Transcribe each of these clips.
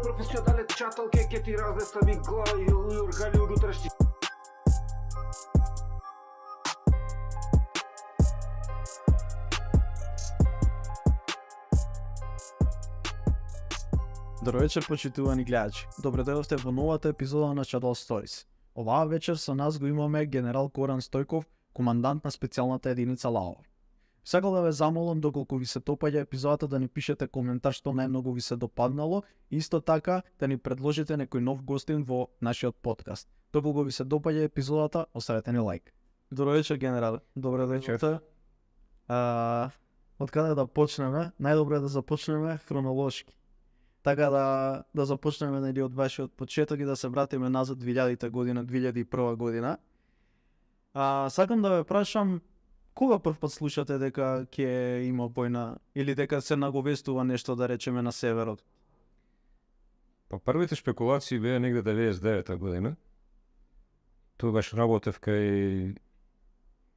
професионален чатал ке ти разнестави глава и органи унутрешни. Добро вечер, почитувани гледачи. Добре дојдовте во новата епизода на Shadow Stories. Оваа вечер со нас го имаме генерал Горан Стојков, командант на специјалната единица ЛАО. Сакал да ве замолам доколку ви се допаѓа епизодата да ни пишете коментар што најмногу ви се допаднало и исто така да ни предложите некој нов гостин во нашиот подкаст. Доколку ви се допаѓа епизодата, оставете ни лайк. Добро вечер, генерал. Добре дојдовте. Од каде да почнеме? Најдобро е да започнеме хронолошки. Така да започнеме нели од вашиот почеток и да се вратиме назад 2000 година, 2001 година. Сакам да ве прашам, кога прв пат слушате дека ќе има војна или дека се наговестува нешто, да речеме, на северот? Па првите шпекулации беа негде 99 година. Тогаш работев кај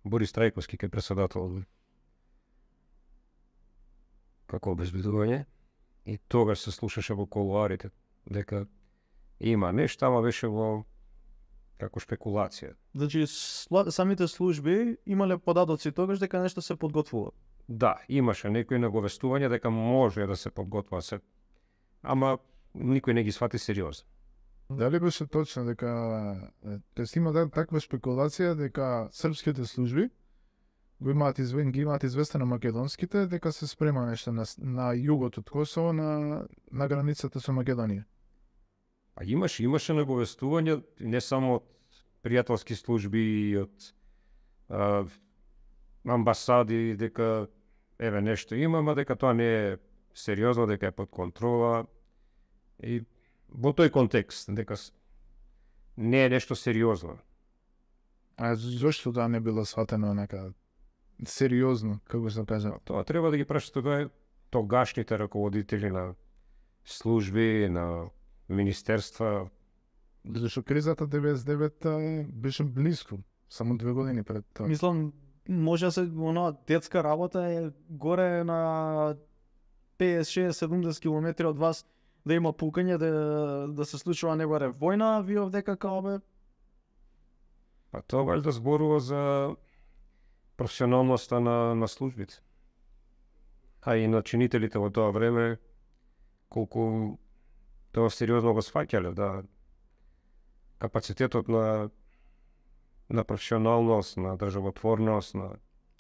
Борис Трајковски, кај председател како обезбедување. И тогаш се слушаше во колуарите дека има нешто, ама беше во како шпекулација. Значи самите служби имале податоци тогаш дека нешто се подготвува. Да, имаше некои наговестувања дека може да се подготвува се, ама никој не ги свати сериозно. Дали беше точно дека има таква шпекулација дека српските служби ги имаат известно на македонските дека се спрема нешто на југот од Косово на границата со Македонија? А имаше наговестувања не само од пријателски служби и од амбасади дека еве нешто има, ама дека тоа не е сериозно, дека е под контрола и во тој контекст дека не е нешто сериозно. А зошто тоа не било сватено нека сериозно, како се кажа? Тоа треба да ги прашате тогашните раководители на служби, на министерства. Зашто кризата 99 беше близко, само 2 години пред тоа. Мислам, може да се она детска работа е горе на 50, 60, 70 километри од вас да има пукање, да се случува не баре војна, ви овдека као бе? Па тоа валјда зборува за професионалноста на службите. А и на чинителите во тоа време, колку тоа сериозно го сваќале, да капацитетот на професионалност, на државотворност, на...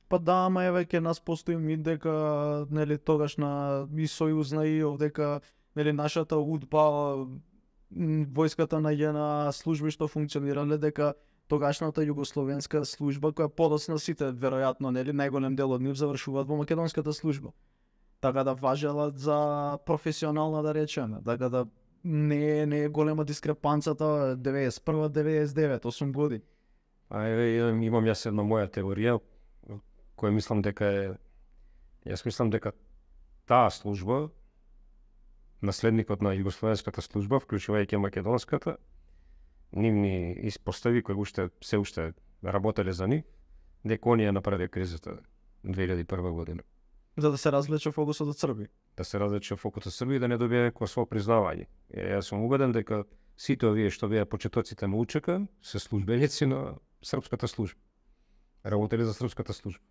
Па да, ама еве ке нас постои мит дека нели тогаш на и сојузна и овдека нели нашата УДБА, војската на ЈНА, служби што функционирале, дека тогашната југословенска служба, која подоцна сите веројатно нели најголем дел од нив завршуваат во македонската служба. Така да важела за професионална, да речеме, така да не е голема дискрепанцата 91-99, 8 години. А еве имам јас една моја теорија која мислам дека е... Јас мислам дека таа служба, наследникот на југословенската служба, вклучувајќи македонската, нивни испостави кои се уште работеле за нив, дека оние направи кризата 2001 година. За да се развлече фокусот од Србија. Да се развлече фокусот од Србија и да не добие Косово признавање. Јас сум убеден дека сите овие што беа почетоците на УЧК се службеници на српската служба. Работели за српската служба.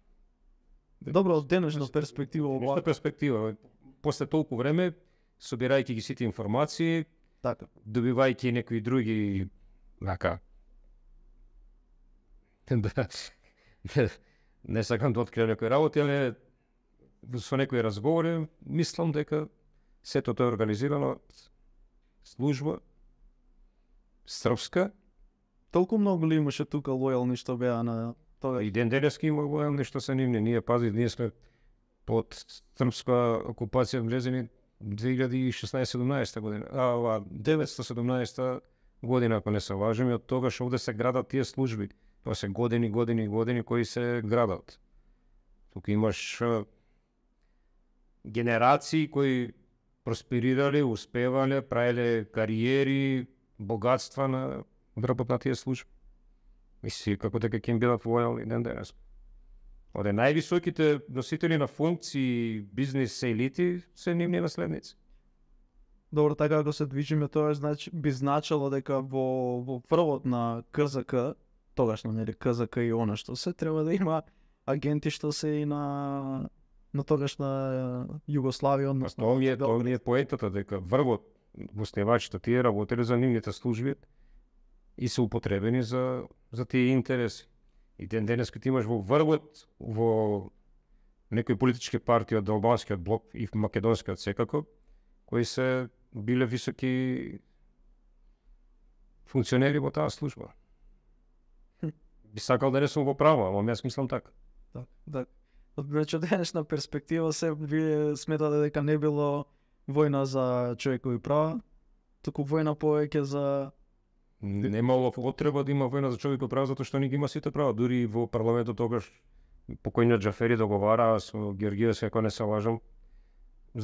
Добро, од денешна перспектива Од перспектива, после толку време, собирајќи ги сите информации, така, добивајќи некои други не сакам да откријам некои работи, али со некои разговори, мислам дека сето тоа е организирано од служба српска. Толку многу ли имаше тука лојални што беа на тоа? И ден денески има лојални што се нивни. Ние сме под српска окупација влезени 2016-17 година. 917 година, ако не се лажем, и од тогаш овде се градат тие служби. Тоа се години кои се градат. Тука имаш генерации кои просперирале, успевале, правеле кариери, богатства на врбот на тие служби. Мисли како дека ќе им бидат лојални ден денес. Оде највисоките носители на функции, бизнес елити се нивни наследници. Добро, така ако се движиме, тоа би значило дека во првот на КЗК, тогашно нели КЗК и она што се треба да има агенти што се и на тогашна Југославија, односно Тоа ми е поентата, дека врвот во основачите тие работеле за нивните служби и се употребени за тие интереси. И денес ти имаш во врвот во некои политички партии од албанскиот блок и македонскиот секако, кои се биле високи функционери во таа служба. Би сакал да не сум во право, ама јас мислам така. Да. Значи, од денешна перспектива се вие сметате дека не било војна за човекови права, туку војна повеќе за... Немало потреба да има војна за човекови права, затоа што не ги има сите права. Дури во парламентот тогаш покојниот Џафери договараа со Георгиевски, ако не се лажам,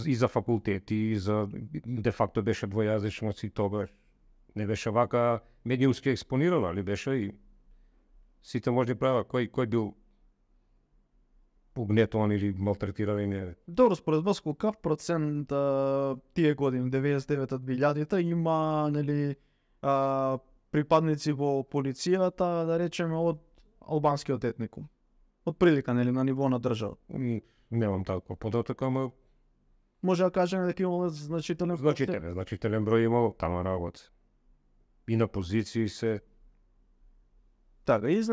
и за факултети, и за де факто беше двојазичност и тогаш. Не беше вака медиумски експонирано, али беше и сите можни права. Кој бил угнетуван или малтретиран и не. Добро, според вас колкав процент тие години 99-2000-та има нели припадници во полицијата, да речеме од албанскиот етникум? Од прилика нели на ниво на држава? Немам таков податок, ама може да кажеме дека имало значителен број имало тама работа. И на позиции се. Така, и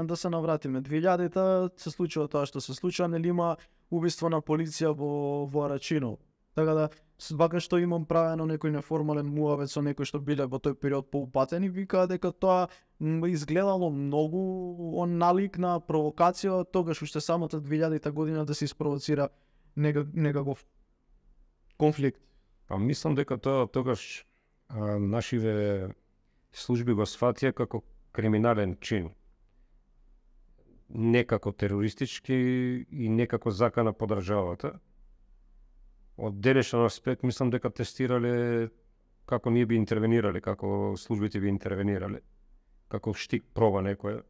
да се навратиме. 2000-та се случува тоа што се случува, нели има убиство на полиција во Арачино. Така да, вака што имам правено некој неформален муавет со некој што биле во тој период поупатени, викаа дека тоа изгледало многу налик на провокација, тогаш уште самата 2000-та година да се испровоцира некаков конфликт. Па мислам дека тоа тогаш нашиве служби го сфатија како криминален чин. Не како терористички и не како закана по државата. Од денешен аспект мислам дека тестирале како ние би интервенирале, како службите би интервенирале, како штик проба некоја.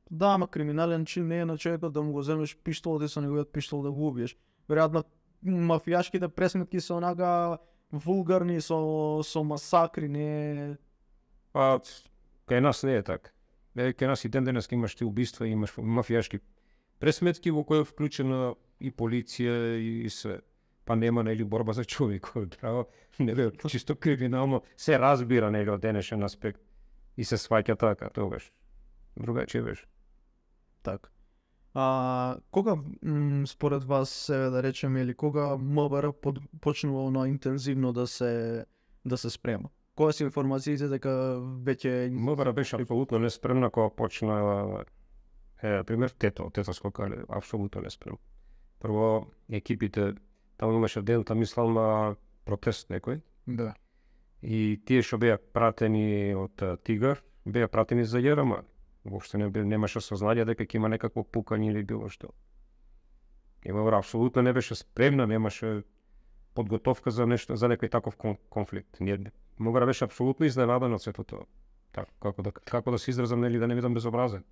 Да, ама криминален чин не е на човекот да му го земеш пиштолот и со неговиот пиштол да го убиеш. Веројатно мафијашките пресметки се онака вулгарни со масакри, не. Па кај нас не е така. Кај нас и денес имаш ти убиства, имаш мафијашки пресметки во кои е вклучена и полиција и се. Па нема нели борба за човекови права, нели чисто криминално се разбира нели од денешен аспект и се сваќа така тогаш. Другачи беше. Така. Кога според вас да речеме или кога МВР почнува на интензивно да се спрема? Која се информациите дека веќе МВР беше апсолутно неспремна кога почна пример Тетовско кале, апсолутно неспремна. Прво екипите таму имаше ден, мислам на протест некој. Да. И тие што беа пратени од Тигар, беа пратени за ЈРМ. Воопшто немаше сознание дека ќе има некакво пукање или било што. МВР апсолутно не беше спремна, немаше подготовка за нешто, за некој таков конфликт. МВР беше апсолутно изненаден од сето тоа. Како да се изразам, нели да не бидам безобразен.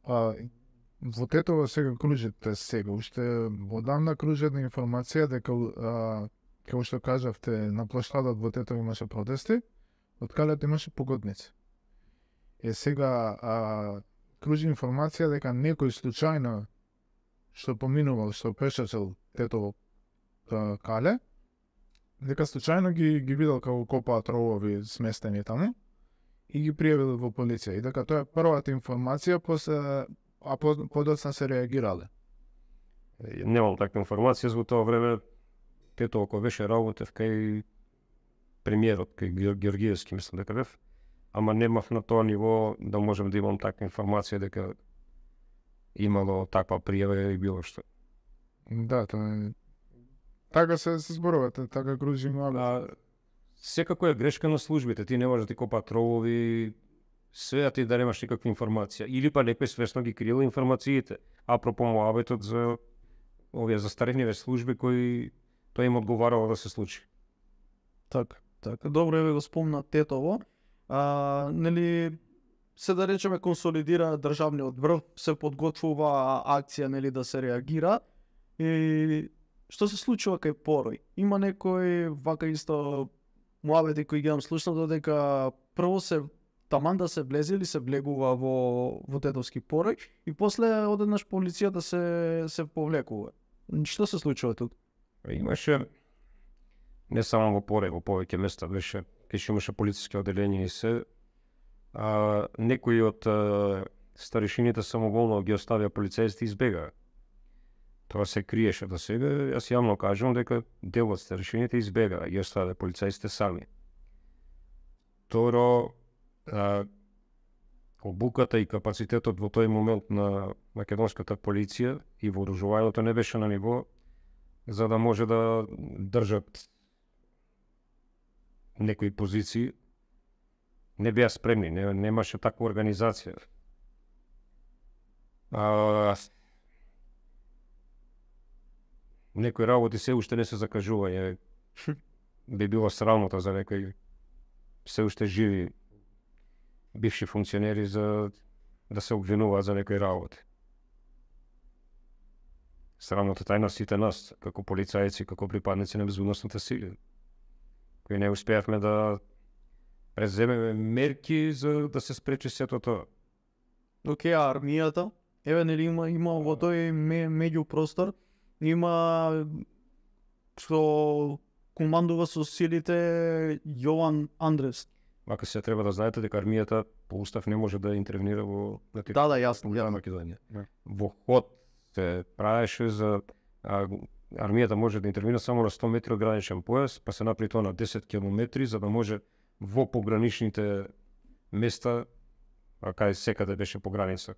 Во Тетово сега кружите уште одамна кружи една информација дека како што кажавте на площадот во Тетово имаше протести, од калето имаше погодници. Сега кружи информација дека некој случајно што поминувал, што пешачел Тетово кале, дека случајно ги видел како копаат ровови сместени таму и ги пријавил во полиција. И дека тоа е првата информација, а подоцна се реагирале. Немам таква информација, за тоа време Тетово кој беше работев кај премиерот, кај Георгиевски, мислам дека бев, ама немав на тоа ниво да можем да имам таква информација дека имало таква пријава и било што. Да, тоа е. Така се зборувате, така кружи мало. Секако е грешка на службите, ти не можеш да ти копаат ровови, све а ти да немаш никаква информација. Или па некој свесно ги крил информациите. Апропо муабетот за овие застарени служби кои тоа им одговарало да се случи. Така. Добро е го спомна Тетово. Нели се да речеме консолидира државниот врв, се подготвува акција нели да се реагира и што се случува кај Порој? Има некои вака исто муабети кои ги имам слушнал додека прво се таман да се влезе или се влегува во Тетовски Порој и после одеднаш полицијата се повлекува. Што се случува тут? Имаше не само во Порој, во повеќе места беше, кај имаше полициски одделенија и се. Некои од старешините самоволно ги оставија полицајците и избегаа. Тоа се криеше до сега. Јас јавно кажувам дека дел од старешините избегаа, ги оставија полицајците сами. Второ, обуката и капацитетот во тој момент на македонската полиција и вооружувањето не беше на ниво за да може да држат некои позиции. Не беа спремни, немаше таква организација. Некои работи се уште не се закажување. Би било срамота за некои се уште живи бивши функционери за да се обвинуваат за некои работи. Срамотата е на сите нас, како полицајци, како припадници на безбедносните сили, кои не успеавме да преземеме мерки за да се спречи сето тоа. Океј, армијата, еве нели има во тој меѓупростор, има што командува со силите Јован Андрес. Мака се треба да знаете дека армијата по устав не може да интервенира во Да, јасно, на Македонија. Во ход се правеше за армијата може да интервенира само на 100 метри од граничен појас, па се направи тоа на 10 километри за да може во пограничните места, кај секаде беше по граница.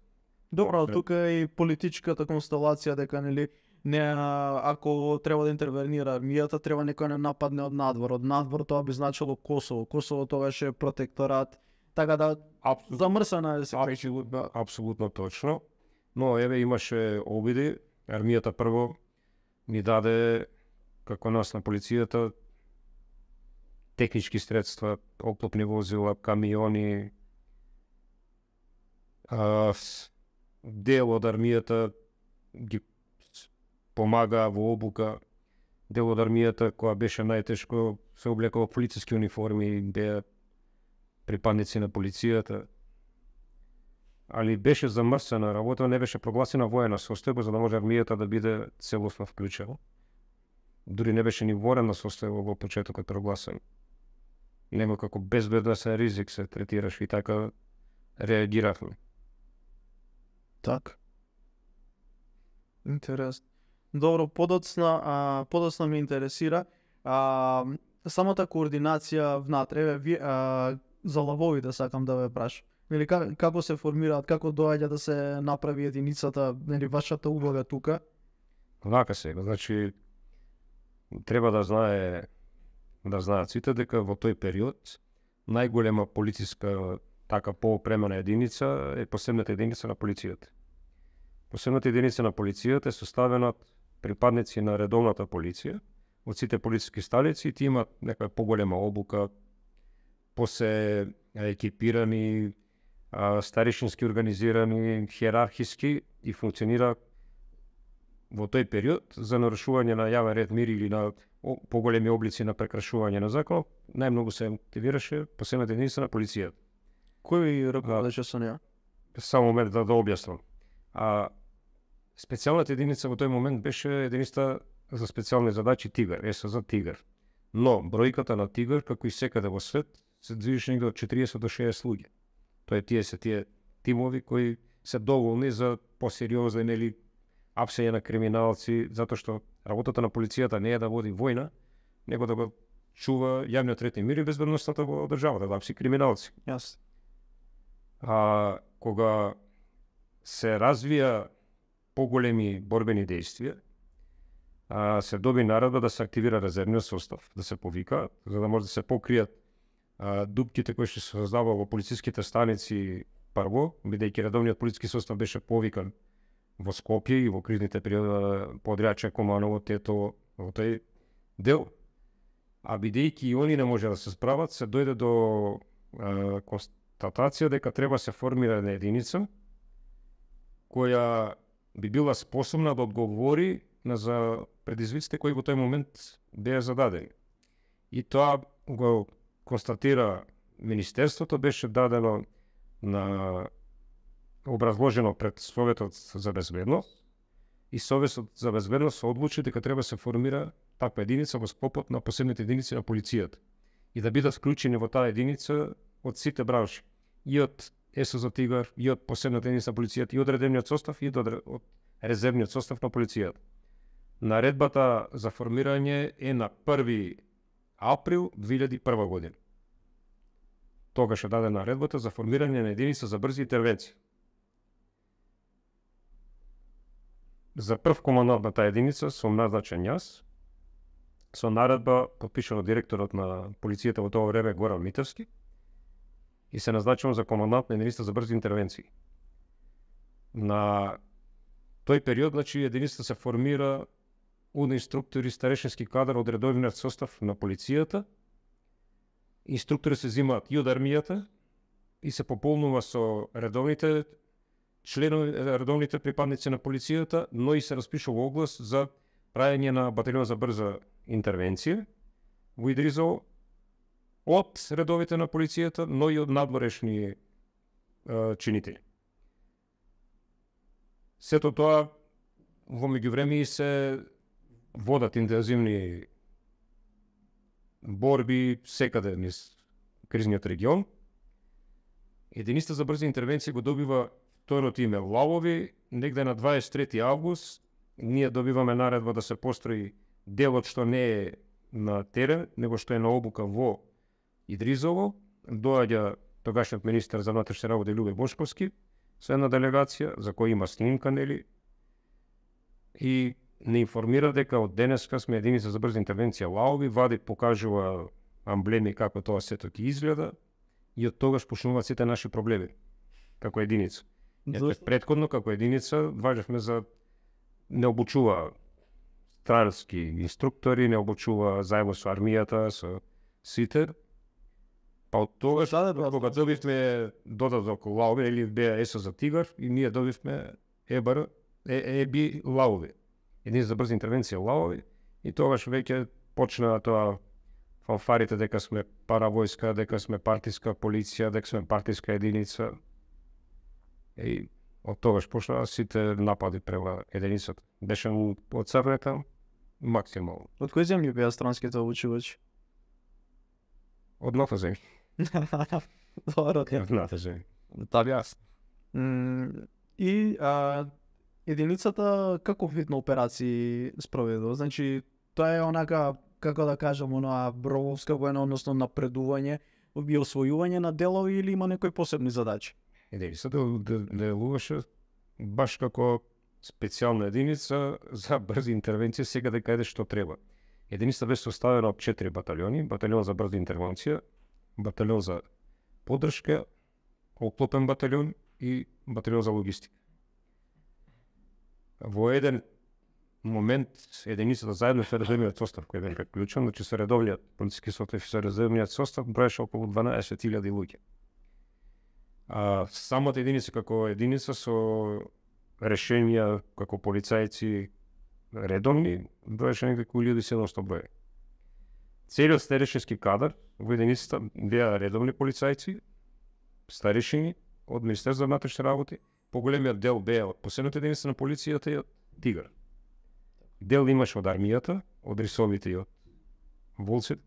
Добро, тука е и политичката констелација дека нели не ако треба да интервенира армијата, треба некој не нападне од надвор. Од надвор тоа би значило Косово. Косово тоа беше протекторат. Така да замрсана е се Апсолутно, апсолутно точно. Но еве имаше обиди, армијата прво ни даде како нас на полицијата технички средства, оклопни возила, камиони. Дел од армијата ги помага во обука. Дел од армијата која беше најтешко се облекува полициски униформи, беа припадници на полицијата. Али беше замрсена работа, не беше прогласена воена состојба за да може армијата да биде целосно вклучена. Дури не беше ни воена состојба во почетокот прогласена. Нема како безбедносен ризик се третираш и така реагиравме. Так. Интересно. Добро, подоцна ме интересира самата координација внатре. Еве за лавовите сакам да ве прашам. Нели како се формираат, како доаѓа да се направи единицата, нели вашата улога тука? Вака сега, значи треба да знаат сите дека во тој период најголема полициска така поопремена единица е посебната единица на полицијата. Посебната единица на полицијата е составена од припадници на редовната полиција, од сите полициски столици, и тие имаат нека поголема обука, посе екипирани, старишински организирани, хиерархиски и функционира во тој период за нарушување на јавен ред, мир или на поголеми облици на прекршување на закон. Најмногу се активираше посебната единица на полицијата. Кој раководеше со неа? Само момент да објаснам. Специјалната единица во тој момент беше единица за специјални задачи Тигар, СЗ Тигар. Но бројката на Тигар, како и секаде во свет, се движеше негде од 40 до 60 луѓе. Тоа се тие тимови кои се доволни за посериозен или апсење на криминалци, затоа што работата на полицијата не е да води војна, него да го чува јавниот ред и мир и безбедноста во државата, да апси криминалци. Јас. Кога се развија поголеми борбени действија, се доби наредба да се активира резервниот состав, да се повика, за да може да се покријат дупките кои што се создава во полициските станици прво, бидејќи редовниот полициски состав беше повикан во Скопје и во кризните периоди Подрјаче, Команово, Тетово, во тој дел. А бидејќи и они не може да се справат, се дојде до констатација дека треба се формира една единица која би била способна да одговори за предизвиците кои во тој момент беа зададени. И тоа го констатира Министерството, беше дадено на образложено пред Советот за безбедност и Советот за безбедност се одлучи дека треба се формира таква единица во склопот на посебните единици на полицијата и да бидат вклучени во таа единица од сите бранши, и од СО Тигар, и од посебната единица на полицијата, и од редовниот состав, и од резервниот состав на полицијата. Наредбата за формирање е на 1 април 2001 година. Тогаш е дадена наредбата за формирање на единица за брзи интервенции. За прв командант на таа единица сум назначен јас, со наредба подпишана од директорот на полицијата во тоа време Горан Митевски, и се назначувам за командант на единица за брзи интервенции. На тој период, значи, единицата се формира од инструктори, старешински кадар од редовниот состав на полицијата. Инструктори се земаат и од армијата и се пополнува со редовните членови, редовните припадници на полицијата, но и се распишува оглас за правење на баталион за брза интервенција во Идризово од редовите на полицијата, но и од надворешни чинители. Сето тоа во меѓувреме и се водат интензивни борби секаде низ кризниот регион. Единицата за брзи интервенции го добива второто име Лавови, негде на 23 август. Ние добиваме наредба да се построи делот што не е на терен, него што е на обука во Идризово. Доаѓа тогашниот министер за внатрешни работи Љубе Бошковски со една делегација за која има снимка, нели, и не информира дека од денеска сме единица за брза интервенција Лаови, вади, покажува амблеми како тоа сето ќе изгледа и од тогаш почнуваат сите наши проблеми како единица. Претходно како единица важевме за не обучува странски инструктори, не обучува заедно со армијата, со сите. Па од тогаш, кога добивме додаток Лаови или беа СО за Тигар, и ние добивме ЕБИ Лаови. Единица за брза интервенција Лаови, и тогаш веќе почна тоа фанфарите дека сме паравојска, дека сме партиска полиција, дека сме партиска единица. И од тогаш почна сите напади према единицата. Беше оцрнета максимално. Од кои земји беа странските обучувачи? Од ната земја. Добро. Од ната земја. Така. И единицата каков вид на операции спроведува? Значи, тоа е онака, како да кажам, она брововска војна, односно напредување и освојување на делови, или има некои посебни задачи? Единицата делуваше баш како специјална единица за брзи интервенции секаде каде што треба. Единицата беше составена од 4 баталиони: баталион за брза интервенција, баталион за поддршка, оклопен баталион и баталион за логистика. Во еден момент единицата заедно со резервниот состав кој беше приклучен, значи со редовниот полициски состав и со резервниот состав броеше околу 12.000 луѓе. Самата единица како единица со решенија како полицајци редовни броеше некако 1700 броја. Целиот старешински кадар во единицата беа редовни полицајци, старешини од Министерството за внатрешни работи, поголемиот дел беа од посебната единица на полицијата и од Тигар. Дел имаше од армијата, од рисовите и од волците.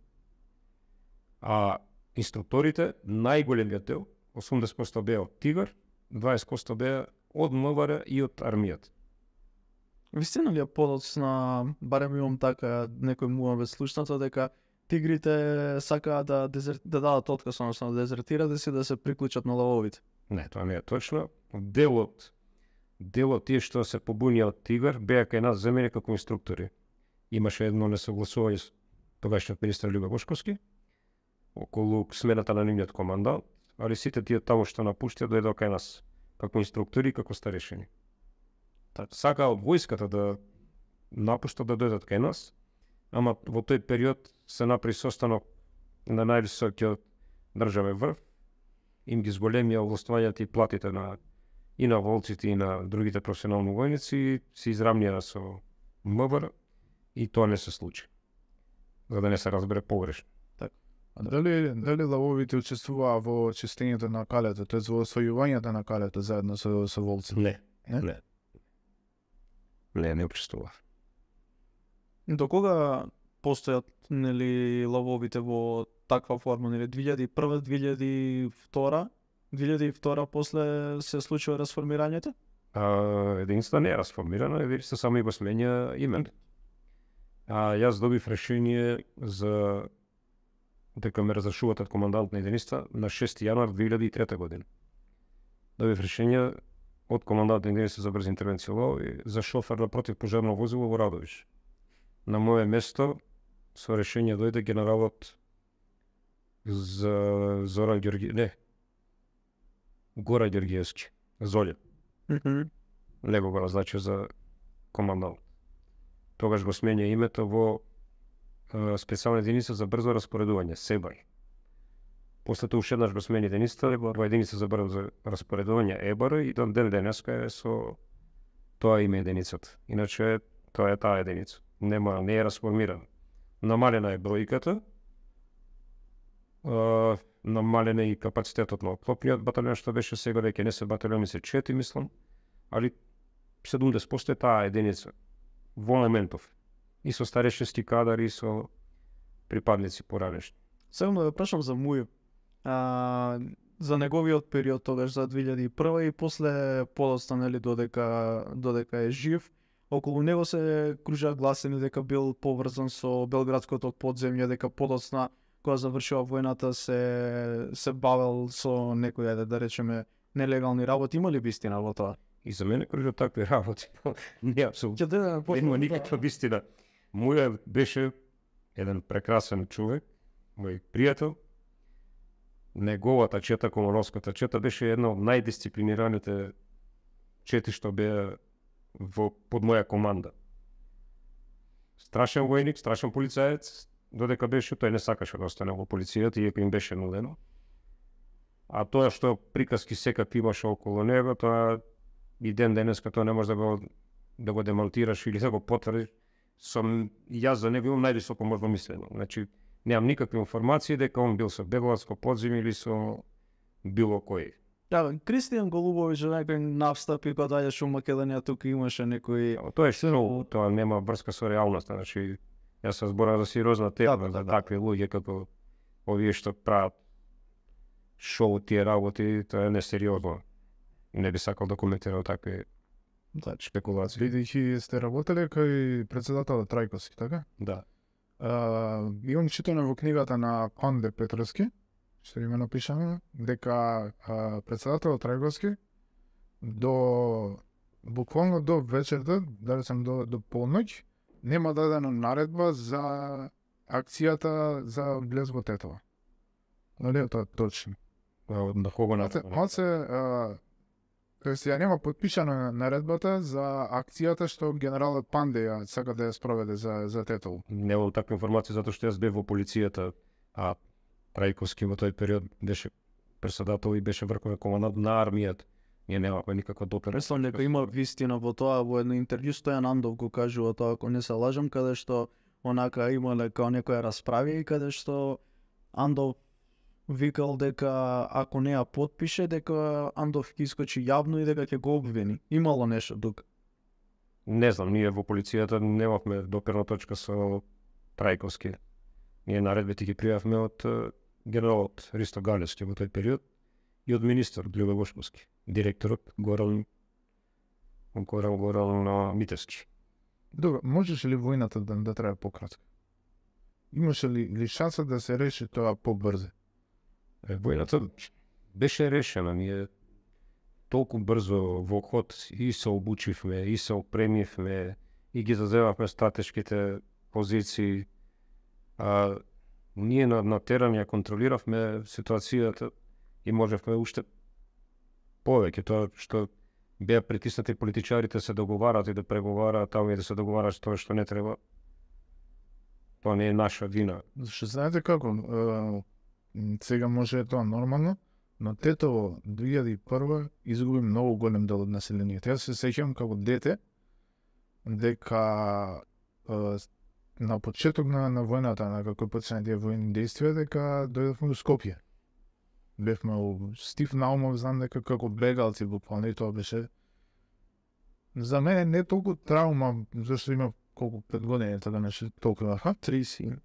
А инструкторите, најголемиот дел, 80% беа од Тигар, 20% беа од МВР и од армијата. Вистина ли е подоцна, барем имам така некој муавет слушнато, дека тигрите сакаат да дадат отказ, односно да дезертират и да се приклучат на лавовите? Не, тоа не е точно. Делот тие што се побунија од Тигар беа кај нас земени како инструктори. Имаше едно несогласување со тогашниот министер Љубе Бошковски околу смената на нивниот командант, али сите тие таму што напуштија дојдоа кај нас како инструктори и како старешини. Сакаа од војската да напуштат да дојдат кај нас, ама во тој период се направи состанок на највисокиот државен врв, им ги зголемија овластувањата и платите и на волците и на другите професионални војници, се изравнија со МВР и тоа не се случи. За да не се разбере погрешно. А дали лавовите учествуваа во чистењето на калето, тоа во освојувањето на калето заедно со волци? Не. Не? Не учествува. До кога постојат нели лавовите во таква форма, нели 2001, 2002 после се случува расформирањето? Единица не е расформирана, единица само го сменја име. Јас добив решение за дека ме разрешуваат од командант на единица на 6 јануар 2003 година. Добив решение од командант на единица за брза интервенција лови за шофер на противпожарно возило во Радовиш. На моје место со решение дојде генералот за Зоран Гора Ѓорѓиевски, Золја. Него го назначи за командант. Тогаш го сменја името во специјална единица за брзо распоредување, СЕБАР. После тоа ушеднаш го смени единицата во единица за брзо распоредување, ЕБАР, и до ден денеска е со тоа име единицата. Иначе тоа е таа единица. Не е расформирана. Намалена е бројката, намален е и капацитетот на оклопниот баталион, што беше сега веќе не се баталиони, се 4, мислам, али 70% е таа единица во елементов. И со старешински кадар, и со припадници поранешни. Сега да прашам за Мују. За неговиот период тогаш за 2001 и после подоцна, нели, додека е жив, околу него се кружа гласини дека бил поврзан со белградското подземје, дека подоцна кога завршува војната се бавел со некои, да речеме, нелегални работи. Има ли вистина во тоа? И за мене кружа такви работи. Не, апсолутно. Не има никаква вистина. Муја беше еден прекрасен човек, мој пријател. Неговата чета, Комановската чета, беше една од најдисциплинираните чети што беа под моја команда. Страшен војник, страшен полицаец, додека беше, тој не сакаше да остане во полицијата, иако им беше нудено. А тоа што приказки секак имаше околу него, тоа и денеска тоа не може да го демонтираш или да го потврдиш. Јас за него имам највисоко можно мислено. Значи, немам никакви информации дека он бил со Белградско подземје или со било кој. Да, Кристијан Голубовиќ некој навстапи кога доаѓаше во Македонија, тука имаше некој... Тоа е шоу, тоа нема врска со реалноста. Значи, јас се зборам за сериозна тема, за такви луѓе како овие што прават шоу тие работи, тоа е несериозно. Не би сакал да коментирам такви спекулации. Бидејќи сте работеле кај председателот Трајковски, така? Да. Имам читано во книгата на Панде Петровски, што име напишано, дека председателот Трајковски буквално до вечерта, да речем до полноќ, нема дадена наредба за акцијата за влез во Тетово. Нали е тоа точно? На кого Тоест, ја нема подпишана наредбата за акцијата што генералот Панде ја сака да ја спроведе за Тетово. Немам таква информација затоа што јас бев во полицијата, а Трајковски во тој период беше председател и беше врховен командант на армијата. Ние немавме никаква допира. Мислам дека има вистина во тоа, во едно интервју Стојан Андов го кажува тоа, ако не се лажам, каде што онака имале као некоја расправи и каде што Андов викал дека ако не ја потпише, дека Андов ќе искочи јавно и дека ќе го обвини. Имало нешто тука? Не знам, ние во полицијата немавме допирна точка со Трајковски. Ние наредбите ги пријавме од генералот Ристо Галевски во тој период и од министер Љубе Бошковски, директорот Горан Митевски. Добро, можеше ли војната да трае пократко? Имаше ли шанса да се реши тоа побрзо? Војната беше решена, ние толку брзо во ход и се обучивме, и се опремивме, и ги заземавме стратешките позиции. Ние на терен ја контролиравме ситуацијата и можевме уште повеќе. Тоа што беа притиснати политичарите се договарат и да преговараат, таму и да се договарат тоа што не треба. Тоа не е наша вина. Зашто знаете како? Сега може е тоа нормално, но Тетово 2001 изгуби многу голем дел од населението. Јас се сеќавам како дете, дека на почеток на војната, на како почна тие војни действија, дека дојдовме до Скопје. Бевме у Стив Наумов, знам дека како бегалци буквално, и тоа беше за мене не толку траума, зашто има колку 5 години, така нешто толку, 34,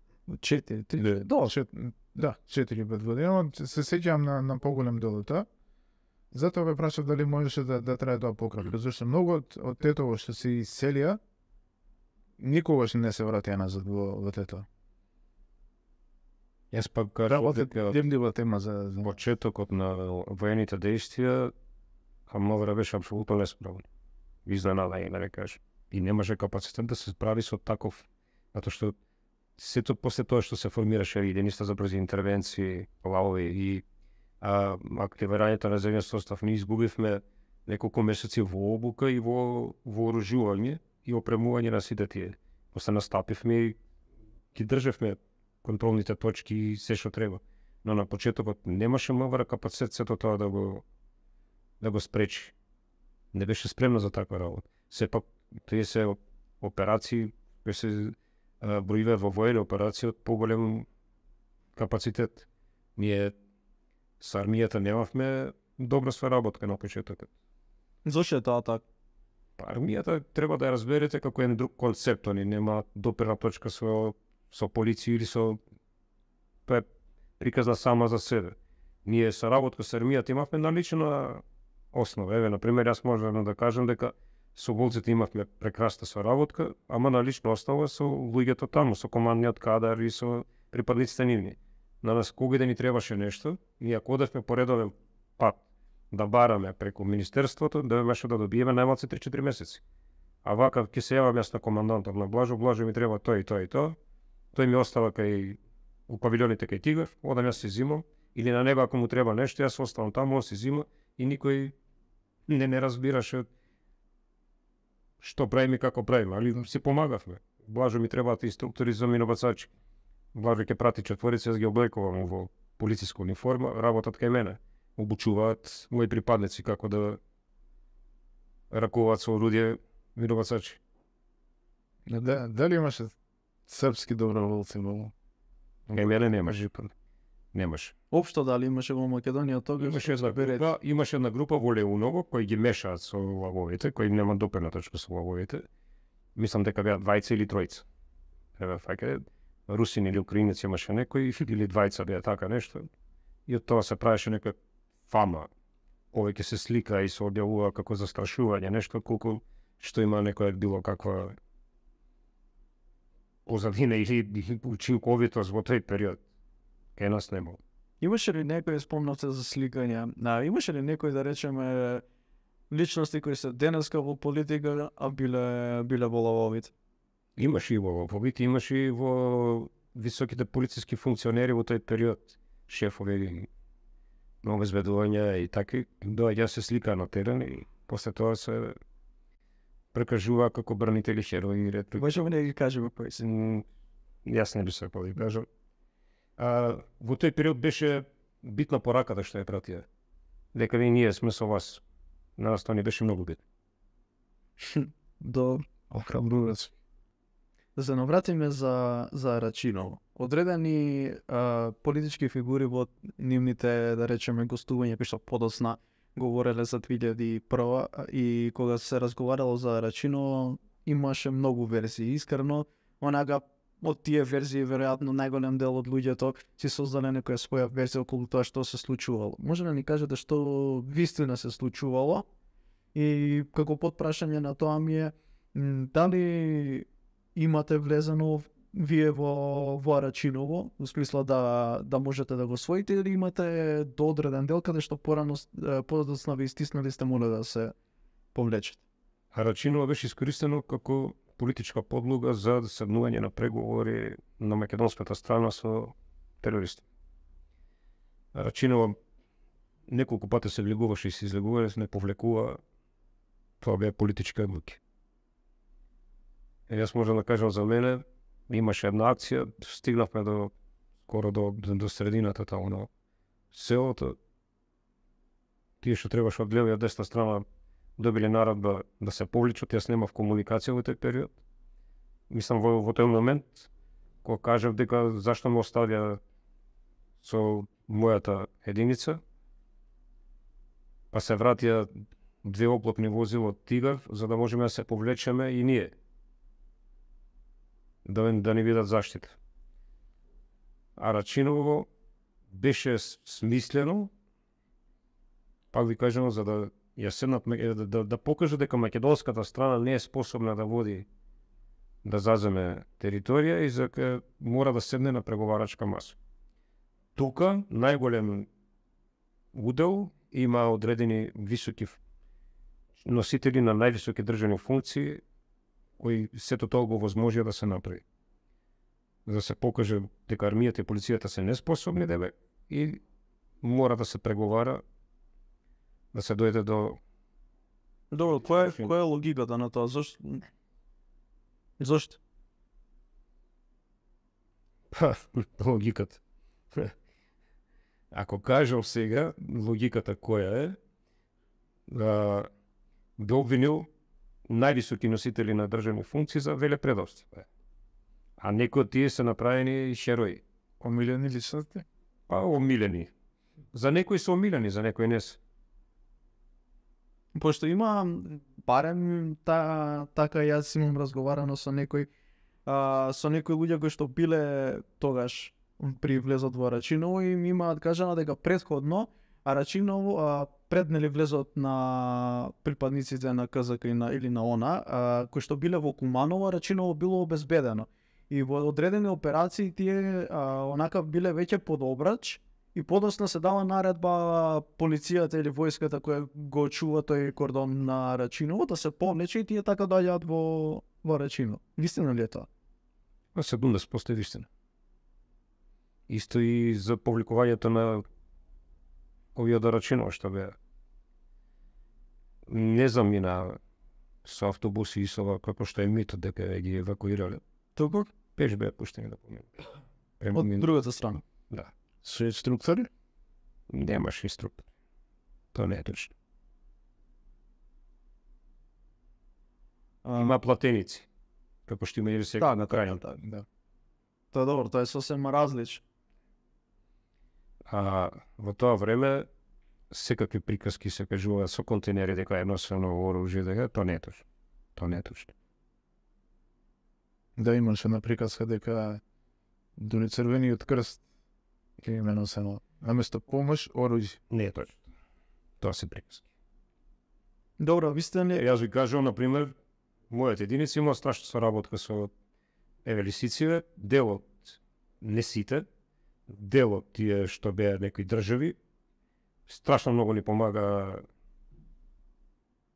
да, 4-5 години, но се сеќавам на поголем дел од тоа. Затоа ве прашав дали можеше да трае тоа пократко, зашто многу од тетово што се иселија, никогаш не се вратија назад во Тетово. Јас пак кажам дека Демлива тема за почетокот на воените действија Хамовра беше апсолутно несправен. Изненада и да кажам. И немаше капацитет да се справи со таков, затоа што сето после тоа што се формираше единица за брзи интервенции, лавови и активирањето на земјен состав, ние изгубивме неколку месеци во обука и во вооружување и опремување на сите тие. После настапивме и ги држевме контролните точки и се што треба. Но на почетокот немаше МВР капацитет сето тоа да го спречи. Не беше спремна за таква работа. Сепак тие се операции кои се броиваат во воени операции од поголем капацитет. Ние со армијата немавме добра соработка на почетокот. Зошто е тоа така? Армијата треба да ја разберете како еден друг концепт, они нема доперна точка со полиција или со тоа е приказна сама за себе. Ние соработка со армијата имавме налична основа. Еве, например, јас можам да кажам дека со волците имавме прекрасна соработка, ама на лична основа со луѓето таму, со командниот кадар и со припадниците нивни. На нас кога да ни требаше нешто, ние ако одевме по редовен пат да бараме преку Министерството, да имаше да добиеме најмалку 3-4 месеци. А вака ќе се јавам јас на командантот на Блажо ми треба тоа и тоа и тоа. Тој ми остава кај у павилионите кај Тигар, одам јас се зимам, или на него ако му треба нешто, јас оставам таму, он се зима и никој не разбираше што правиме и како правиме, али си помагавме. Блажо ми требаат инструктори за минобацачи. Блажо ќе прати четворица, јас ги облекувам во полициска униформа, работат кај мене. Обучуваат мои припадници како да ракуваат со орудие минобацачи. Дали имаше српски доброволци во? Кај мене немаше. Немаше. Општо дали имаше во Македонија тогаш? Имаше една група во Леуново кои ги мешаат со лавовите, кои немаат доперна точка со лавовите. Мислам дека беа двајца или тројца. Еве фаќа русин или украинец имаше некој или двајца беа така нешто. И од тоа се правеше нека фама. Повеќе се слика и се објавува како застрашување, нешто колку што има некоја било каква позадина или учинковитост во тој период. Кај нас нема. Имаше ли некој, спомнавте за сликање, имаше ли некој, да речеме, личности кои се денеска во политика, а биле во лавовите? Имаше и во лавовите, имаше и во високите полициски функционери во тој период. Шефови на обезбедување и таки, доаѓа се слика на терен и после тоа се прекажува како бранители херои. Можеме да ги кажеме кои се? Јас не би се да кажам. Во тој период беше битна пораката што ја пратија. Дека ние сме со вас. На нас тоа не беше многу битно. Добро. Охрабрувач. Да се навратиме за Рачиново. Одредени политички фигури во нивните, да речеме, гостувања кои што подоцна говореле за 2001 и кога се разговарало за Рачиново, имаше многу верзии. Искрено, онака од тие верзии веројатно најголем дел од луѓето си создале некоја своја верзија околу тоа што се случувало. Може да ни кажете што вистина се случувало и како потпрашање на тоа ми е дали имате влезено вие во Рачиново, во смисла да можете да го освоите или имате до одреден дел каде што подоцна ви стиснали сте моле да се повлечете? Рачиново беше искористено како политичка подлога за седнување на преговори на македонската страна со терористи. Рачиново неколку пати се влегуваше и се излегуваше, не повлекува, тоа беа политички одлуки. Јас можам да кажам за мене, имаше една акција, стигнавме скоро до средината таму на селото. Тие што требаше од лева и од десна страна добиле наредба да се повличат, јас немав комуникација во тој период. Мислам во тој момент кога кажав дека зашто ме оставија со мојата единица, па се вратија 2 оклопни возила од Тигар, за да можеме да се повлечеме и ние. Да ни видат заштита. А Рачиново беше смислено, пак ви кажам, за да ја седнат, да покаже дека македонската страна не е способна да води, да заземе територија и дека мора да седне на преговарачка маса. Тука најголем удел има одредени високи носители на највисоки државни функции кои сето тоа го возможија да се направи. За да се покаже дека армијата и полицијата се неспособни и мора да се преговара, да се дојде до... Добро, која е логиката на тоа? Зошто? Па, логиката. Ако кажам сега, логиката која е, би обвинил највисоки носители на државни функции за велепредавство. А некои од тие се направени херои. Омилени личности? Па, омилени. За некои се омилени, за некои не се. Пошто има, барем така јас имам разговарано со некои луѓе кои што биле тогаш при влезот во Рачиново и ми имаат кажано дека претходно Рачиново пред влезот на припадниците на КЗК или на ОНА, кои што биле во Куманово, Рачиново било обезбедено. И во одредени операции тие онака биле веќе под обрач и подоцна се дава наредба полицијата или војската која го чува тој кордон на Рачиново да се повлече и тие така доаѓаат во Рачиново. Вистина ли е тоа? 70% вистина. Исто и за повликувањето на овие од Рачиново што беа. Не замина со автобуси и со како што е мито дека ги евакуирале. Туку? Пеш беа пуштени да поминат. Од другата страна? Да. Со инструктори? Немаш инструктор. Тоа не е точно. Има платеници. Како што има и сега на крајот. Да. Тоа добро, тоа е сосем различно. Во тоа време секакви приказки се кажува со контейнери дека е носено оружје, дека тоа не е точно. Тоа не е точно. Да, имаше една приказка дека дури Црвениот крст ќе има носено наместо помош оружје. Не е точно. Тоа се приказки. Добро, вистина ли? Јас ви кажувам, например, мојата единица има страшна соработка со лисиците, делот, не сите, делот тие што беа некои држави, страшно многу ни помага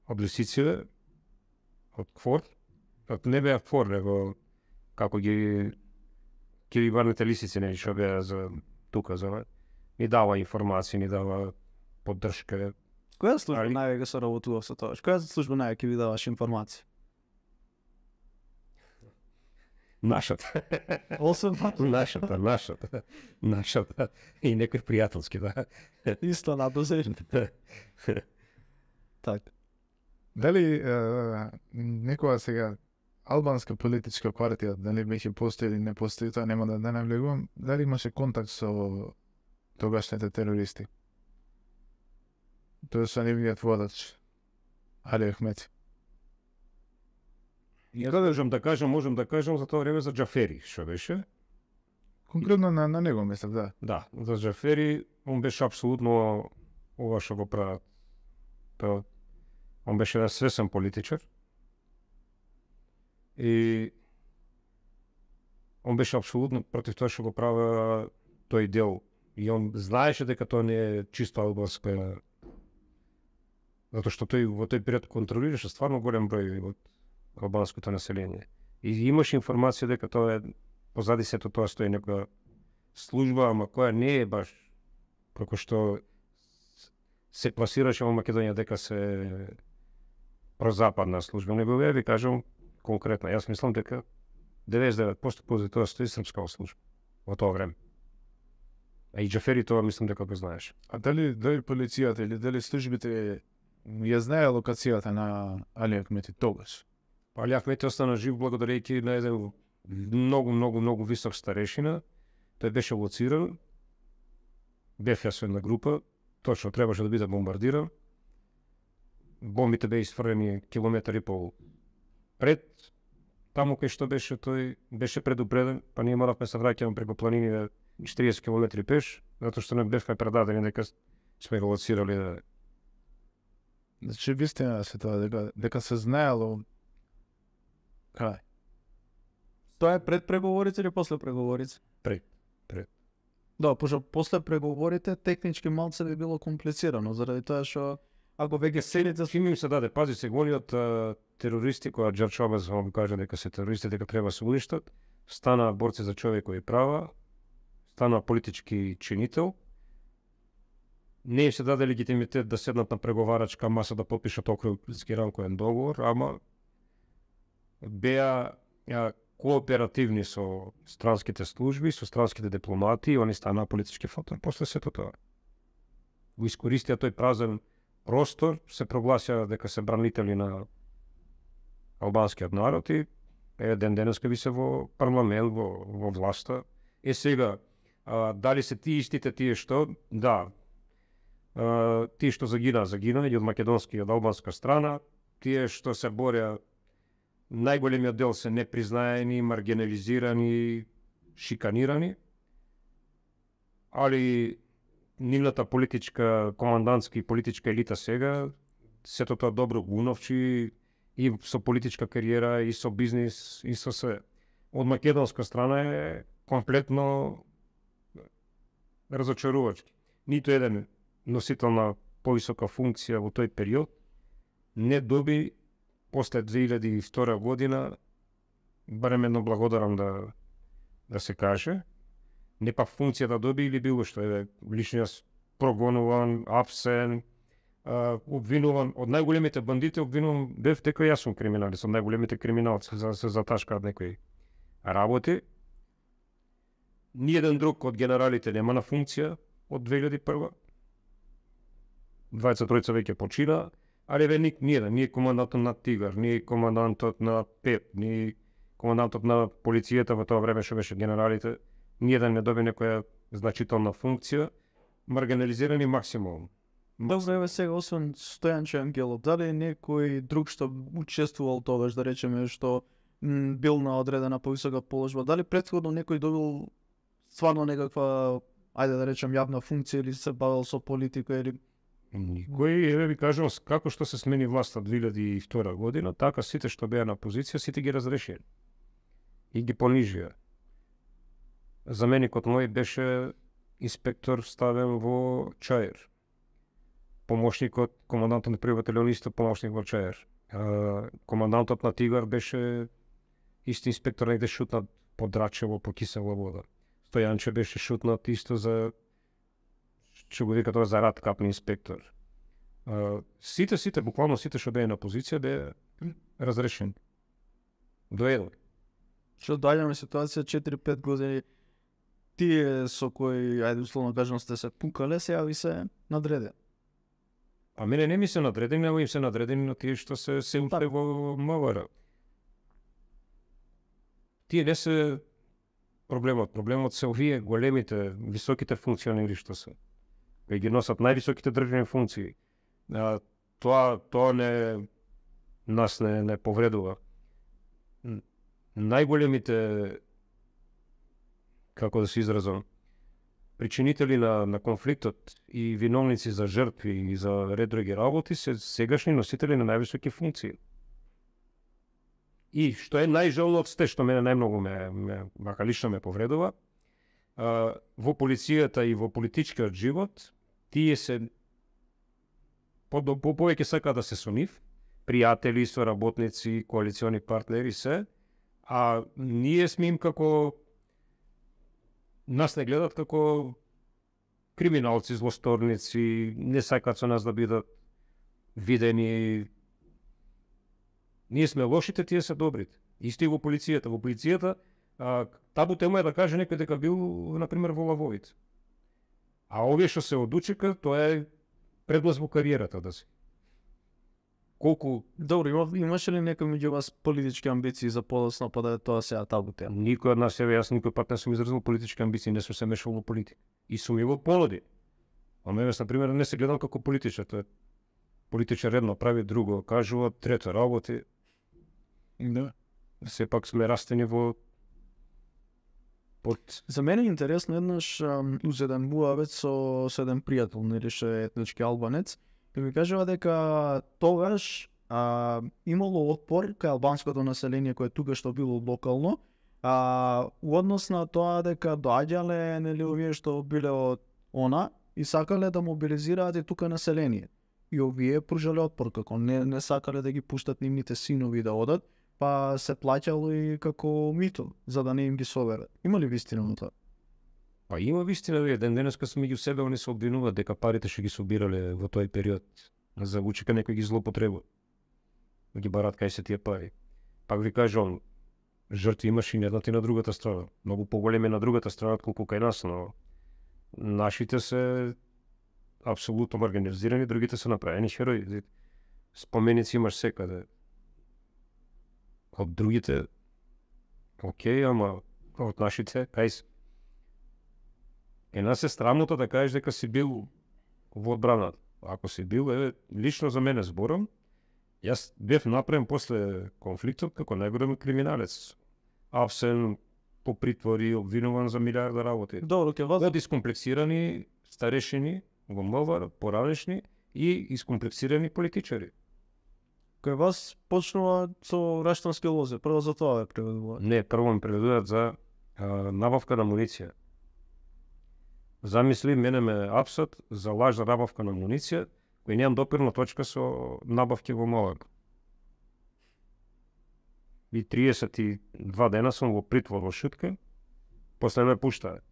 од лисиците, од КФОР, не беа КФОР, него како ги кириbarните лисици, не што беа за тука, за ни дава информации, ни дава поддршка. Која служба највеќе се работува со тоа? Која служба највеќе ви даваш информација? Нашата. Освен Нашата. И некои пријателски, да. Исто надозешно. Така. Дали некоја сега албанска политичка партија, дали беше постои или не постои, тоа нема да навлегувам, дали имаше контакт со тогашните терористи? Тоа со нивниот водач, Али Ахмети. Можем да кажам за тоа време за Џафери, што беше? Конкретно на него мислам, да. Да, за Џафери, он беше апсолутно ова што го прават. Он беше еден свесен политичар. И он беше апсолутно против тоа што го правя тој дел. И он знаеше дека тоа не е чисто албанска, затоа што тој во тој период контролираше стварно голем број од албанското население. И имаше информација дека тоа е позади сето тоа стои некоја служба, ама која не е баш како што се пласираше во Македонија дека се прозападна служба. Не би ви кажам конкретно. Јас мислам дека 99% позади тоа стои српска служба во тоа време. А и Џафери тоа мислам дека го знаеш. А дали полицијата или дали службите ја знае локацијата на Али Ахмети тогаш. Али Ахмети остана жив благодарејќи на еден многу висок старешина. Тој беше лоциран. Бев јас со една група, точно требаше да биде бомбардиран. Бомбите беа изфрлени километар и пол пред таму кај што беше тој, беше предупреден, па ние моравме се враќаме преку планините 40 километри пеш, затоа што не бевме предадени дека сме го лоцирали да. Значи вистина се тоа дека се знаело кај. Тоа е пред преговорите или после преговорите? Пред. Да, пошто после преговорите технички малце би било комплицирано, заради тоа што ако веќе селите Ким им се даде, пази се, гониот терористи кои Џорџ Шабас го кажа дека се терористи, дека треба се уништат, стана борци за човекови права, стана политички чинител, не им се даде легитимитет да седнат на преговарачка маса да подпишат Охридски рамковен договор, ама беа кооперативни со странските служби, со странските дипломати и они станаа политички фактор после сето тоа. Го искористија тој празен простор, се прогласија дека се бранители на албанскиот народ и ден денеска ви се во парламент, во власта. Сега, дали се тие истите тие што? Да. Тие што загина и од македонска и од албанска страна, тие што се боря, најголемиот дел се непризнаени, маргинализирани, шиканирани, али нивната политичка, командантска и политичка елита сега, сето тоа добро го уновчи и со политичка кариера, и со бизнис, и со се. Од македонска страна е комплетно разочарувачки. Ниту еден носител на повисока функција во тој период не доби после 2002 година, барем едно благодарам да се каже, не па функција да доби или било што е личниот прогонуван, апсен, обвинуван од најголемите бандити, обвинуван бев дека јас сум криминалист, од најголемите криминалци за да се заташкаат некои работи. Ниеден друг од генералите нема на функција од 2001. 23 веќе почина, али ве ниеден, ни командантот на Тигар, ни командантот на ПЕП, ни командантот на полицијата во тоа време што беше генералите, ниеден не доби некоја значителна функција, маргинализирани максимум. Добро, еве сега, освен Стојанче Ангелов, дали некој друг што учествувал тогаш, да речеме, што бил на одредена повисока положба, дали претходно некој добил стварно некаква, ајде да речем, јавна функција или се бавил со политика или... Никој, еве ви кажам, како што се смени власта 2002 година, така сите што беа на позиција, сите ги разрешија и ги понижија. Заменикот мој беше инспектор ставен во Чаир. Помошникот, командантот на први батальон исто помошник во Чаир. Командантот на Тигар беше исти инспектор, негде шутнат по Драчево, по кисела вода. Стојанче беше шутнат исто за, што го вика тоа, за рад капни инспектор. Сите, буквално сите што беа на позиција беа разрешени. До еден. Што доаѓаме ситуација 4-5 години, тие со кои, ајде условно кажам, сте се пукале, сега ви се надреде. А мене не ми се надредени, него им се надредени на тие што се упре во МВР. Тие не се проблемот. Проблемот се овие големите, високите функционери што се. Кои ги носат највисоките државни функции. Тоа нас не повредува. Најголемите, како да се изразам, причинители на конфликтот и виновници за жртви и за ред други работи се сегашни носители на највисоки функции. И што е најжално од сте, што мене најмногу мака лично ме повредува, во полицијата и во политичкиот живот, тие се повеќе сакаат да се со нив, пријатели, соработници, коалициони партнери се, а ние сме им како, нас не гледат како криминалци, злосторници, не сакаат со нас да бидат видени. Ние сме лошите, тие се добрите. Исто и во полицијата. Во полицијата табу тема е да каже некој дека бил, например, во лавовите. А овие што се одучека, тоа е предлаз во кариерата да си. колку Добро, имаше ли некој меѓу вас политички амбиции за подоцна, па да е тоа сега табу тема? никој од нас, јас никој пат не сум изразил политички амбиции, не сум се мешал во политика. И сум и во полоди. А мене, на пример, не се гледам како политичар, тоа е политичар едно прави, друго кажува, трето работи. Да. Сепак сме растени во под За мене е интересно еднаш уз еден муавет со еден пријател, нели ше етнички албанец, и ми кажува дека тогаш имало отпор кај албанското население кое тука што било локално, у однос на тоа дека доаѓале нели овие што биле од она и сакале да мобилизираат и тука население. И овие пружале отпор како не сакале да ги пуштат нивните синови да одат, па се плаќало и како мито за да не им ги соберат. Има ли вистина на тоа? Па има вистина, ден денеска се меѓу себе они се обвинуваат дека парите што ги собирале во тој период за учека некој ги злоупотребува. Ги барат кај се тие пари. Пак ви кажам, жртви имаше и на едната и на другата страна. Многу поголеми на другата страна отколку кај нас, но нашите се апсолутно маргинализирани, другите се направени херои. Споменици имаш секаде. Од другите, окей, ама од нашите, кај се. Нас е срамното да кажеш дека си бил во одбраната. Ако си бил, лично за мене зборам, јас бев направен после конфликтот како најголем криминалец. Апсен, по притвори, обвинуван за милиарда работи. Добро, ќе вас Од искомплексирани старешини во МВР, поранешни и искомплексирани политичари. кај вас почнува со раштански лозе, прво за тоа ве преведува. Не, прво ме преведуваат за набавка на муниција. Замисли, мене ме апсат за лажна набавка на муниција, кој немам допирна точка со набавки во МВР. И 32 дена сум во притвор во Шутка, после ме пуштаат.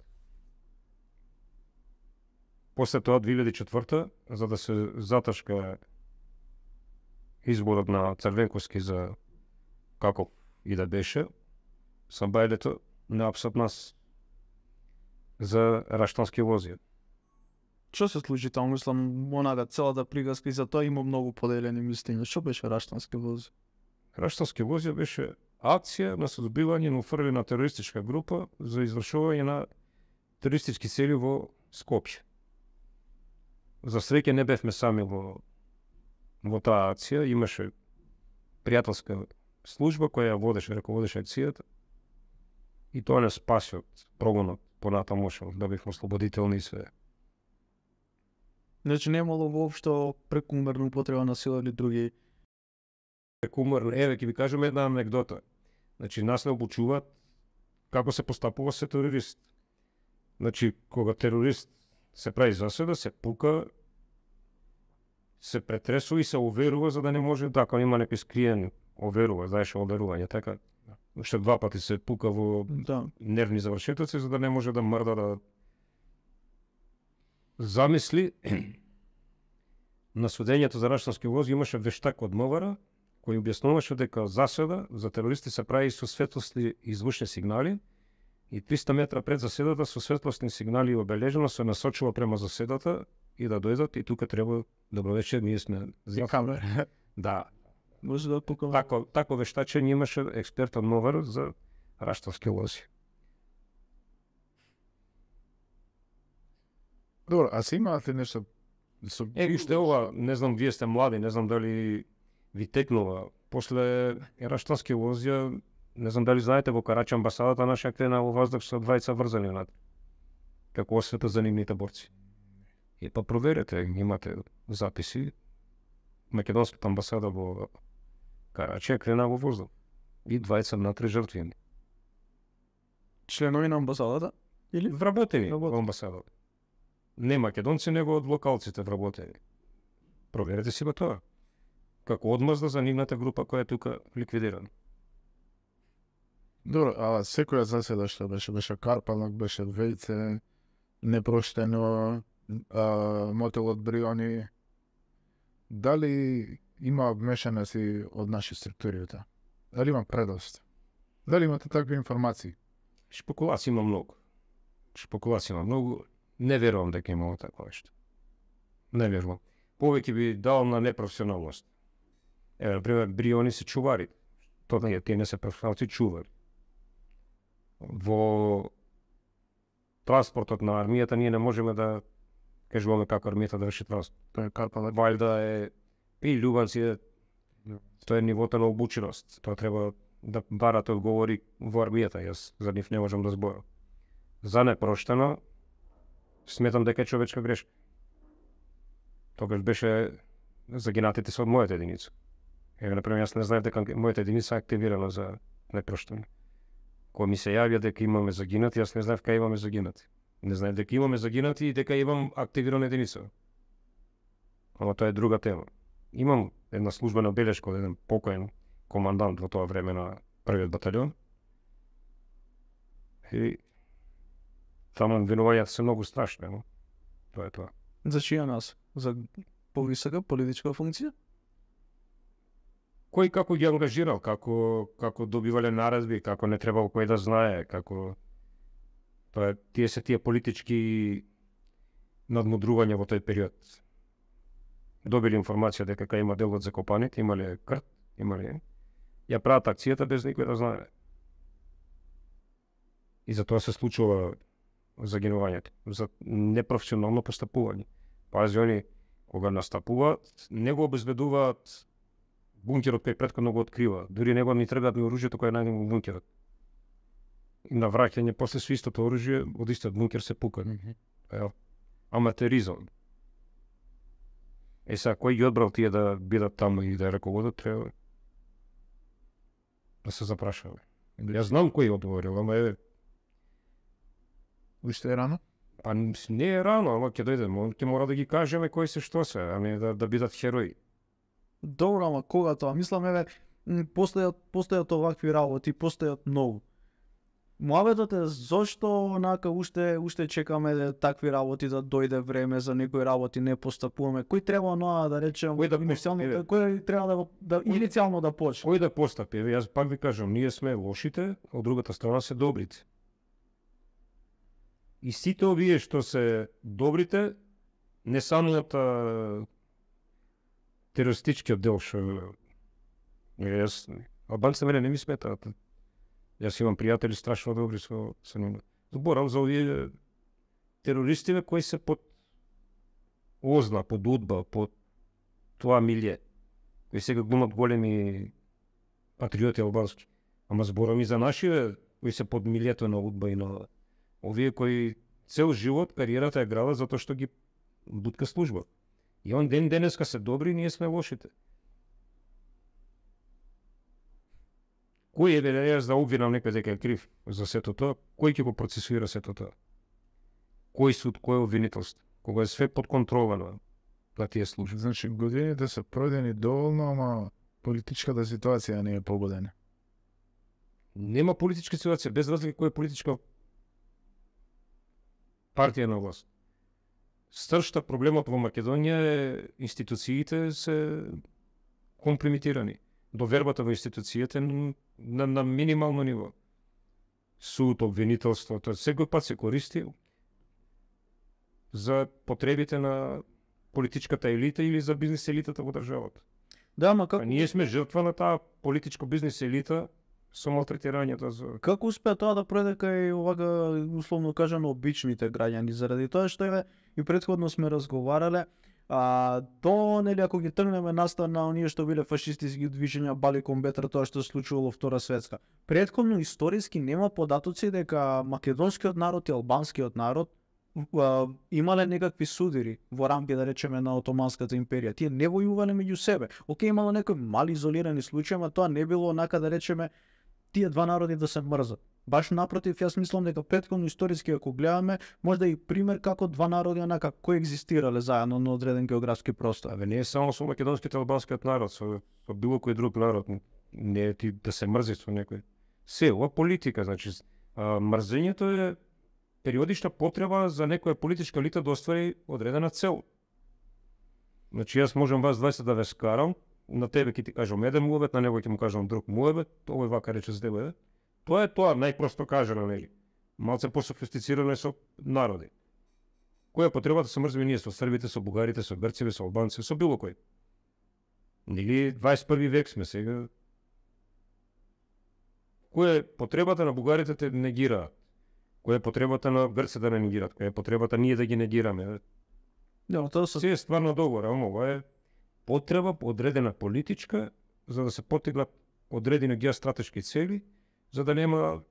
После тоа 2004 за да се заташка изборот на Црвенковски за како и да беше, сам бајлето не апсат нас за раштански лозија. Што се случи таму? Мислам, онага целата приказка и за тоа има многу поделени мислења. Што беше раштански лозе? Раштански лозија беше акција на создобивање на уфрлена терористичка група за извршување на терористички цели во Скопје. За среќа не бевме сами во таа акција, имаше пријателска служба која водеше, раководеше акцијата и тоа не спаси од прогонот понатаму, да бевме ослободителни и све. Значи немало воопшто прекумерна употреба на сила или други. Прекумерно, ќе ви кажам една анекдота. Значи нас не обучуваат како се постапува се терорист. Значи кога терорист се прави заседа, се пука, се претресува и се оверува за да не може така, има некој скриен оверува, знаеш оверување, така. Уште 2 пати се пука во нервни завршетоци за да не може да мрда да замисли. На судењето за раштански лози имаше вештак од МВР кој објаснуваше дека заседа за терористи се прави со светлосни и звучни сигнали и 300 метра пред заседата со светлосни сигнали обележено се насочува према заседата и да дојдат и тука треба добро вечер, ние сме камера. Да. Може да пукам. Тако вештачење имаше експерт од МВР за раштански лози. Добро, а се имате нешто со Виште ова, не знам, вие сте млади, не знам дали ви текнува. После раштански лозија, не знам дали знаете, во Карача амбасадата наша крена во воздух со двајца врзани над. Како освета за нивните борци. И па проверете, имате записи. Македонската амбасада во Карача крена во воздух. И двајца внатре жртвени. Членови на амбасадата? Или? Вработени во амбасадата. Не македонци, него од локалците вработени. Проверете си го тоа. Како одмазда за нивната група која е тука ликвидирана. Добро, а секоја заседа што беше карпалак, беше вејце, непроштено, мотел од бриони. Дали има вмешаници од наши структури? Дали има предост? Дали имате такви информации? Шпекулации има многу. Не верувам дека имало такво нешто. Не верувам. Повеќе би дал на непрофесионалност. Еве, например, бриони се чувари. Тие не се професионалци, чувари. Во транспортот на армијата ние не можеме да кажуваме како армијата да врши транспорт. Тоа е карпале. Вајда е и љубанци, тоа е нивото на обученост. Тоа треба да барате одговори во армијата, јас за нив не можам да зборам. За непроштено, сметам дека е човечка грешка. Тогаш беше загинатите се од мојата единица. Еве, например, јас не знаев дека мојата единица е активирана за непроштено. Кога ми се јавија дека имаме загинати, јас не знаев кај имаме загинати. Не знаев дека имаме загинати и дека имам активирана единица. Ама тоа е друга тема. Имам една службена белешка од еден покоен командант во тоа време на првиот баталјон. И таму винувањата се многу страшни, но тоа е тоа. За чија нас? За повисока политичка функција? Кој како ги ангажирал, како добивале наредби, како не требало кој да знае, како тоа е тие политички надмудрувања во тој период. Добили информација дека кај има дел од закопаните, имале крт, имале ја прават акцијата без никој да знае. И за тоа се случува загинувањето, за непрофесионално постапување. Пази, они кога настапуваат, не го обезбедуваат бункерот кој претходно го открива. Дури него ни треба да оружјето кое е најдено во бункерот. И на враќање после со истото оружје од истиот бункер се пука. Аматеризам. Сега, кој ги одбрал тие да бидат таму и да раководат, треба да се запрашаме. Јас знам кој одговорил, ама е... Уште е рано? Па не е рано, ама ќе дојдеме, ќе мора да ги кажеме кои се што се, а не да бидат херои. Добро, ама кога тоа? Мислам, еве, постојат овакви работи, постојат многу. Муабетот е зошто онака уште чекаме такви работи да дојде време за некои работи не постапуваме. Кој треба оноа да речем, кој треба да иницијално да почне? Кој да постапи? Јас пак ви кажам, ние сме лошите, од другата страна се добрите. И сите овие што се добрите, не самиот терористичкиот дел што албанците мене не ми сметаат. Јас имам пријатели страшно добри со нив. Зборам за овие терористиве кои се под озна, под удба, под тоа милје. Кои сега глумат големи патриоти албански. Ама зборам и за нашиве кои се под милјето на удба и на овие кои цел живот кариерата е града затоа што ги бутка служба. И он ден денеска се добри, ние сме лошите. Кој е јас да обвинам некој дека е крив за сето тоа? Кој ќе го процесуира сето тоа? Кој суд, кој обвинителство? Кога е све под контрола на тие служби. Значи, годините се пройдени доволно, ама политичката ситуација не е погодена. Нема политичка ситуација, без разлика која е политичка партија на власт. Сршта проблемот во Македонија е институциите се компрометирани. Довербата во институциите на минимално ниво. Суд, обвинителството, секој пат се користи за потребите на политичката елита или за бизнес елитата во државата. Да, ама како... Ние сме жртва на таа политичко бизнес елита со малтретирањето за... Како успеа тоа да пројде кај овака, условно кажано, обичните граѓани, заради тоа што и претходно сме разговарале, нели ако ги тргнеме настан на оние што биле фашистиски движења Баликон Бетра, тоа што се случувало во Втора светска. Претходно историски нема податоци дека македонскиот народ и албанскиот народ имале некакви судири во рамки, да речеме, на Отоманската империја. Тие не војувале меѓу себе. Океј, имало некои мали изолирани случаи, ама тоа не било онака, да речеме, тие два народи да се мрзат. Баш напротив, јас мислам дека претходно историски ако гледаме, можда и пример како два народи онака коегзистирале заедно на одреден географски простор. Не е само со македонскиот и албанскиот народ, со било кој друг народ. Не е ти да се мрзи со некој. Се, ова политика, значи, мрзењето е периодична потреба за некоја политичка елита да оствари одредена цел. Значи, јас можам вас 20 да ве скарам, на тебе ќе ти кажам еден муебет, на него ќе му кажам друг муебет, овој вака рече за тебе. Тоа е тоа, најпросто кажано, нели? Малце пософистицирано е со народи. Која потреба да се мрзиме ние со србите, со бугарите, со грците, со албанците, со било кој? Нели 21 век сме сега. Која е потребата на бугарите те негираат? Која е потребата на грците да не негираат? Која е потребата ние да ги негираме? Да, тоа се Се е стварно договор, ама ова е потреба одредена политичка за да се постигнат одредени геостратешки цели, за да нема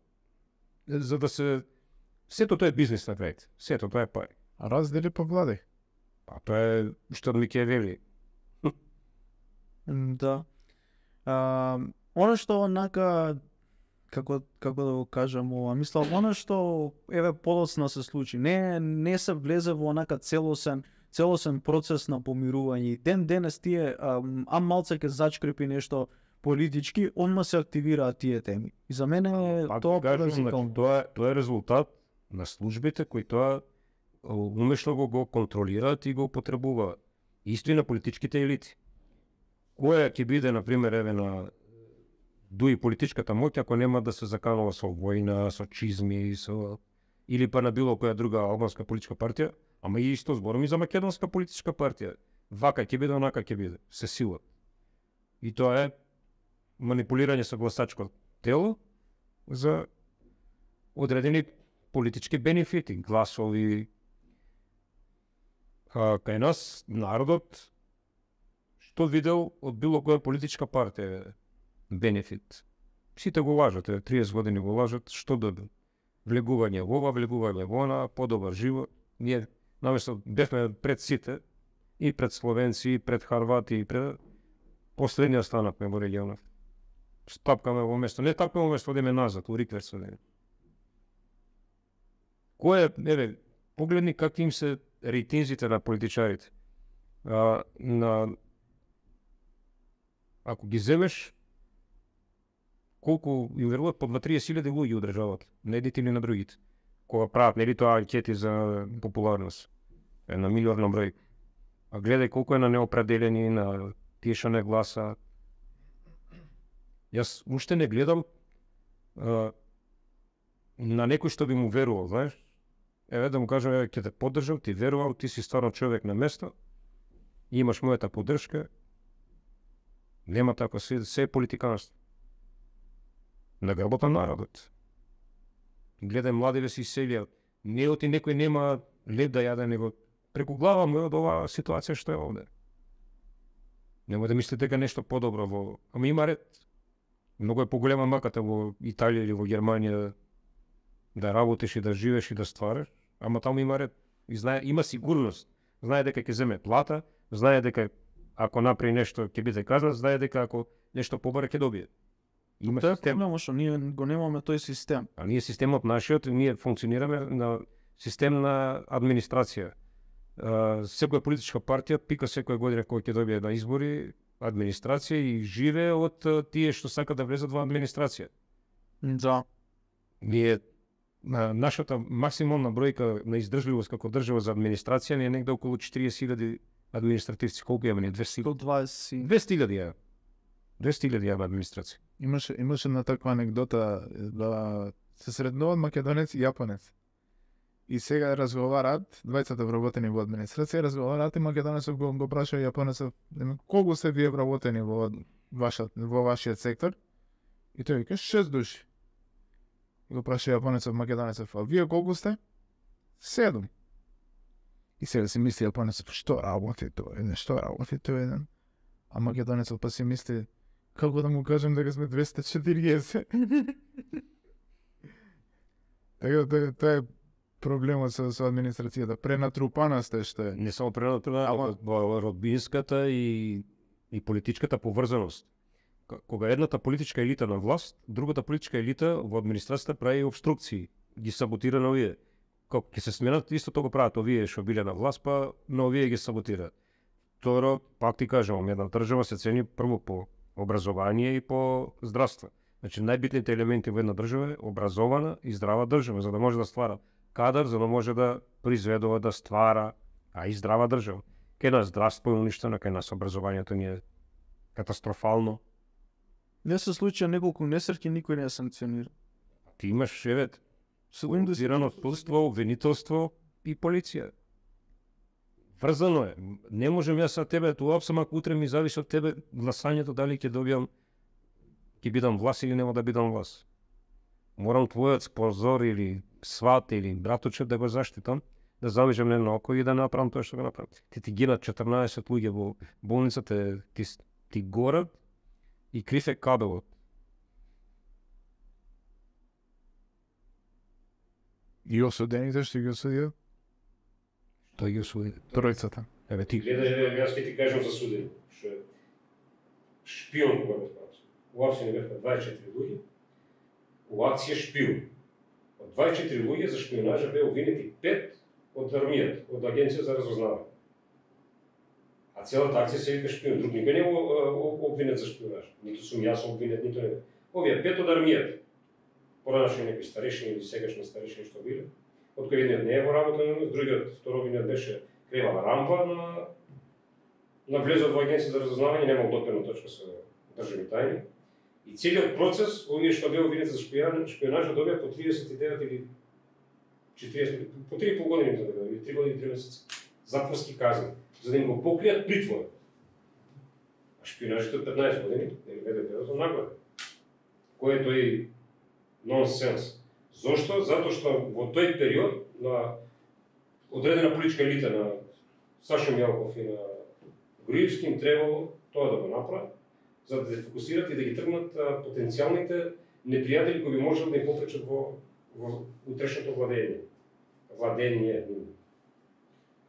за да се сето тоа е бизнис на крај. Сето тоа е пари. А раздели по влади. А тоа е што Микиавели. Да. Оно што онака како да го кажам ова, мислам оно што еве подоцна се случи, не се влезе во онака целосен процес на помирување. И ден денес тие малце ќе зачкрепи нешто политички, одма се активираат тие теми. И за мене тоа кажам, тоа е резултат на службите кои тоа умешно го контролираат и го потребуваат. Исто и на политичките елити. Која ќе биде, например, еве на дуи политичката моќ ако нема да се заканува со војна, со чизми, или па на било која друга албанска политичка партија, ама и исто зборам и за македонска политичка партија. Вака ќе биде, онака ќе биде, се сила. И тоа е манипулирање со гласачко тело за одредени политички бенефити, гласови. Кај нас народот што видел од било која политичка партија бенефит. Сите го лажат, 30 години го лажат, што добил? Влегување во ова, влегување во она, подобар живот. Ние наместо бевме пред сите, и пред словенци, и пред харвати, и пред последниот станавме во регионот. Тапкаме во место, не тапкаме во место, одиме назад, у рикверс одиме. Кој е, еве, погледни какви им се рейтинзите на политичарите. Ако ги земеш, колку им веруват по 20.000 луѓе одржават, на едните или на другите. Кога прават, нели тоа анкети за популарност, на милион на број. А гледај колку е на неопределени, на тие што не гласа. Јас уште не гледам на некој што би му верувал, знаеш? Еве да му кажам, еве ќе те поддржам, ти верувам, ти си стварно човек на место, имаш мојата поддршка. Нема тако, се е политиканство. На грбот на народот. Гледај младиве се иселија. Не оти некој нема леб да јаде, него преку глава му од оваа ситуација што е овде. Нема да мислите дека нешто подобро во... Ама има ред. Многу е поголема маката во Италија или во Германија да работиш и да живееш и да ствараш, ама таму има ред. И знае, има сигурност. Знае дека ќе земе плата, знае дека ако направи нешто ќе биде казнат, знае дека ако нешто побара ќе добие. Има Тоа е систем. проблемот што ние го немаме тој систем. А ние системот нашиот, ние функционираме на систем на администрација. Секоја политичка партија пика секоја година кој ќе добие на избори администрација и живее од тие што сакаат да влезат во администрација. Да. Ние нашата максимална бројка на издржливост како држава за администрација не е негде околу 40.000 административци. Колку имаме ние? 200.000? 120. 200.000 имаме администрација. Имаше една таква анекдота да се среднуваат македонец и јапонец. И сега разговараат, двајцата вработени во администрација, разговараат и македонецот го праша јапонецот, колку сте вие вработени во вашиот сектор? И тој вика 6 души. И го праша јапонецот македонецот, а вие колку сте? 7. И сега си мисли јапонецот, што работи тој еден? А македонецот па си мисли, како да му кажем дека сме 240? Така тоа е проблемот со администрацијата. Пренатрупана сте што е. Не само пренатрупана, во родбинската и политичката поврзаност. Кога едната политичка елита на власт, другата политичка елита во администрацијата прави обструкции, ги саботира на овие. Кога ќе се сменат, истото го прават овие што биле на власт, па на овие ги саботираат. Второ, пак ти кажам, една држава се цени прво по образование и по здравство. Значи најбитните елементи во една држава е образована и здрава држава, за да може да ствара кадар, за да може да произведува, да ствара, а и здрава држава. Кај нас здравство е уништено, кај нас образованието ни е катастрофално. Не се случија неколку несреќи, никој не е санкционира. Ти имаш, организирано судство, обвинителство и полиција. Врзано е. Не можам јас со тебе, тоа само ако утре ми зависи од тебе гласањето дали ќе добиам, ќе бидам власт или нема да бидам власт. Морам твојот спонзор или сват или браточет да го заштитам, да завижам не на око и да направам тоа што го направам. Ти гинат 14 луѓе во болницата, ти горат и крив е кабелот. И осудените што ги осудија? Тој ги осуди. Тројцата. Еве ти. Гледај, јас ќе ти кажам за судење. Што е шпион кога бев правци. У акција не бевме 24 луѓе. У акција шпион. Од 24 луѓе за шпионажа беа обвинети 5 од армијата, од агенција за разузнавање. А целата акција се вика шпион. Друг никој не е обвинет за шпионаж. Ниту сум јас обвинет, ниту не. Овие 5 од армијата. Поранашни некои старешини или сегашни старешини што биле. Од кој едниот не е во работа, другиот второвиот беше кревала рампа на влезот во агенција за разузнавање, немал допирна точка со државни тајни. И целиот процес, овие што беа обвинети за шпионажа добија по 39 или 40, по 3,5 години за да или 3 години и 3 месеци затворски казни, за да им го покријат притвор. А шпионажите од 15 години, или веде период нагледа. Кој е тој нонсенс? Зошто? Затоа што во тој период на одредена политичка елита на Сашо Мјалков и на Груевски им требало тоа да го направат, за да се фокусират и да ги тргнат потенцијалните непријатели кои би можели да им попречат во утрешното владење.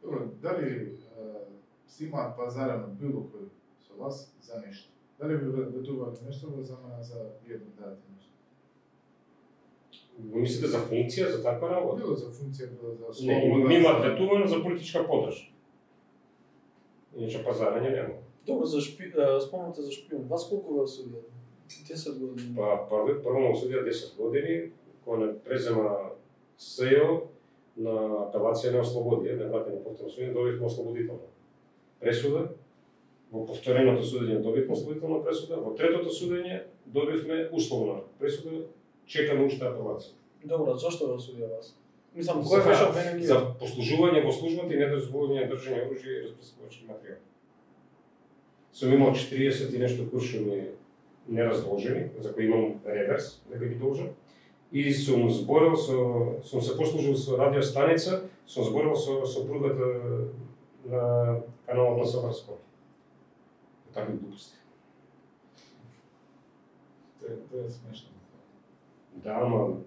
Добро, дали си имаат пазарено било кој со вас за нешто? Дали ви ветуваат нешто за едно дадете нешто? Мислите за функција, за таква работа? Било за функција, било за Не, ми имаат ветувано за политичка подршка. Иначе пазарање нема. Добро, спомнате за шпион. Вас колку ве осудија? 10 години. Па прво ме осудија 10 години, кога не презема СЕО на апелација не ослободи, не вратени повторно судење, добивме ослободителна пресуда. Во повтореното судење добивме ослободителна пресуда, во третото судење добивме условна пресуда, чекаме уште апелација. Добро, зошто ве осудија вас? Мислам, кој беше обвинен? За послужување во службата и недозволување држање оружје и распрескувачки материјали. Сум имал 40 и нешто куршуми неразложени, за кои имам реверс, дека ги должам. И сум се послужил со радиостаница, сум зборил со сопругата на каналот на Собар Скопје. Такви глупости. Тоа е смешно. Да, ама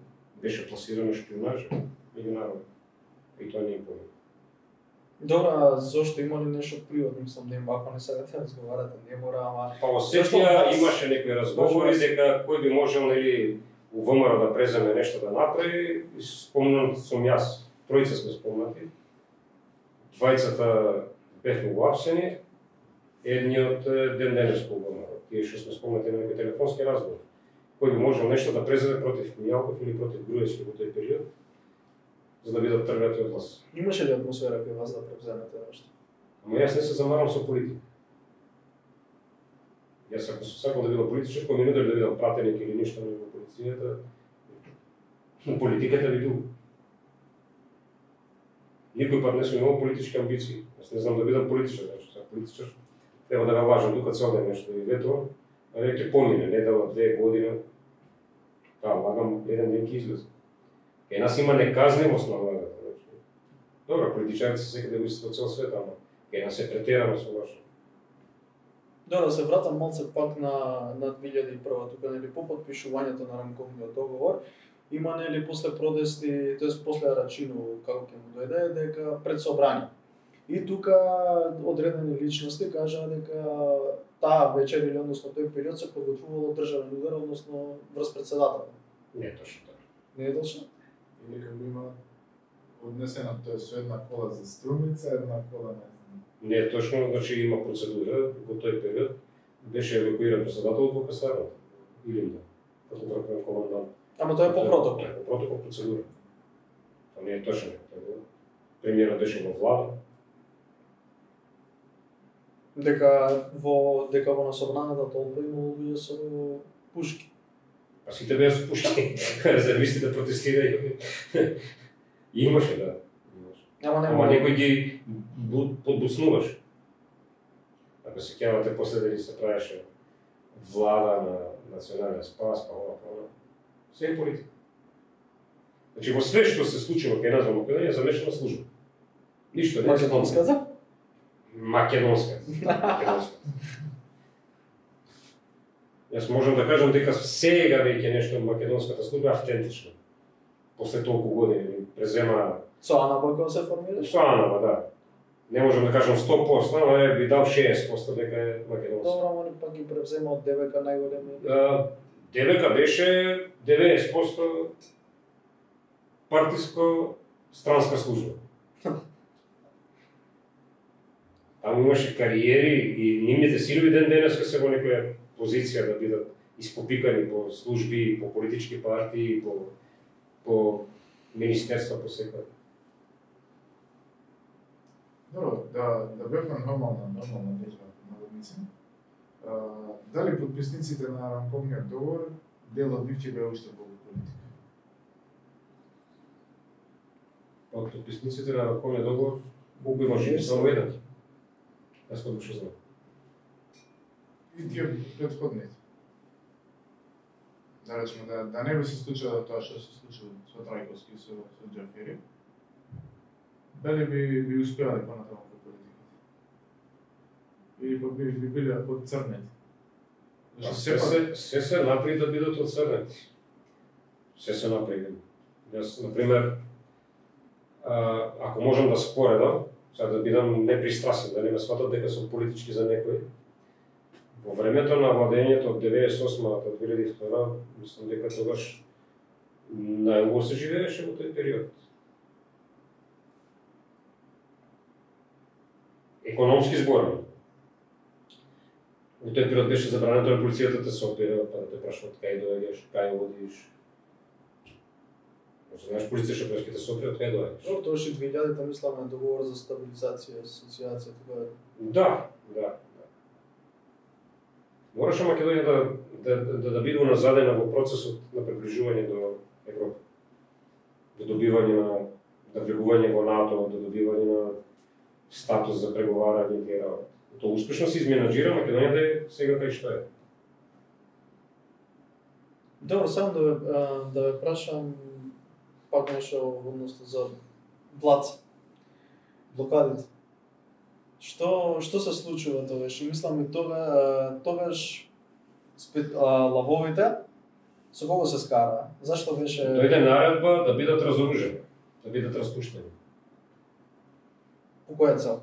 беше пласирано шпионажа меѓу народ. И тоа не е појме. Добро, а зошто има ли нешто приватно? Мислам, ако не сакате разговарате, не мора, ама... Па во Сетија имаше некои разговори дека кој би можел, нели, у ВМРО да преземе нешто да направи. Спомнам сум јас, тројца сме спомнати. Двајцата бевме уапсени, едниот ден денес во ВМРО. Тие што сме спомнати на некои телефонски разговори. Кој би можел нешто да преземе против Мјалков или против Груевски во тој период, за да бидат тргнати од власт. Имаше ли атмосфера кај вас да превземете нешто? Ама јас не се замарам со политика. Јас ако сакам да бидам политичар, кој ми нуди да бидам пратеник или ништо во полицијата, на политиката би бил. Никој пат не сум имал политички амбиции. Јас не знам да бидам политичар, значи сакам политичар. Треба да ме лажам тука цел ден нешто и ветувам, а ќе помине, недела, 2 година. Таа лагам, еден ден ќе излезе. Кај нас има неказнивост на владата. Добро, политичарите се секаде го исто цел свет, ама кај нас е претерано со лошо. Добро, се вратам малце пак на 2001, тука нели по потпишувањето на рамковниот договор, има нели после протести, тоест после Арачино како ќе му дојде дека пред собрание. И тука одредени личности кажаа дека таа вечер или односно тој период се подготвувало државен удар, односно врз председател. Не е точно така. Не е точно? Или како има однесено тоа со една кола за струмица, една кола Не е точно, значи има процедура во тој период. Беше евакуиран председателот во касарната. Или не, како врховен командант. Ама тоа е по протокол. По протокол процедура. Тоа не е точно. Премиерот беше во влада. Дека во насобраната толпа имало луѓе со пушки. Па сите беа со пушки. Резервистите протестираја. Имаше, да. Ама Ама некои ги подбуснуваш. Ако се сеќавате после дали се правеше влада на национален спас, па ова. Се е политика. Значи во све што се случува кај нас во Македонија замешана служба. Ништо не е Македонската? Македонската. Јас можам да кажам дека сега веќе нешто македонската служба е автентично. После толку години презема Со АНБ кога се формираш? со АНБ, да. Не можам да кажам 100%, но би дал 60% дека е македонска. Добро, они пак ги превзема од ДВК најголеми. ДВК беше 90% партиско странска служба. Таму имаше кариери и нивните синови ден денеска се во некоја позиција да бидат испопикани по служби, по политички партии, по министерства, по секој. Добро, да бевме нормална держава на водници. Дали подписниците на рамковниот договор дел од нив ќе беа уште во политика? Од подписниците на рамковниот договор колку има живи само еден. Јас кога што знам. И тие претходните. Да речеме, да не би се случило тоа што се случило со Трајковски и со Џафери, дали би успевале понатаму во политиката? Или па би биле одцрнети? Се направи да бидат одцрнети. Се направи. Јас, например, ако можам да споредам, сега да бидам непристрасен, да не ме сватат дека сум политички за некој, во времето на владењето од 98 до 2002, мислам дека тогаш најубаво се живееше во тој период. Економски зборам. Во тој период беше забрането на полицијата да се опира, па да те прашаат кај доаѓаш, кај одиш. Знаеш, полиција што те се опира, кај доаѓаш. Тоа беше 2000-та, мислам, на договор за стабилизација, асоциација, тоа. Да. Мораше Македонија да биде уназадена во процесот на приближување до Европа. До добивање на, да влегување во НАТО, до добивање на статус за преговарање и тие работи. Тоа успешно се изменаџира Македонија да е сега кај што е. Добро, само да ве прашам пак нешто односно за Блац. Блокадите. Што се случува тогаш? Мислам и тогаш лавовите со кого се скара? Зашто беше Дојде наредба да бидат разоружени, да бидат распуштени. По која цел?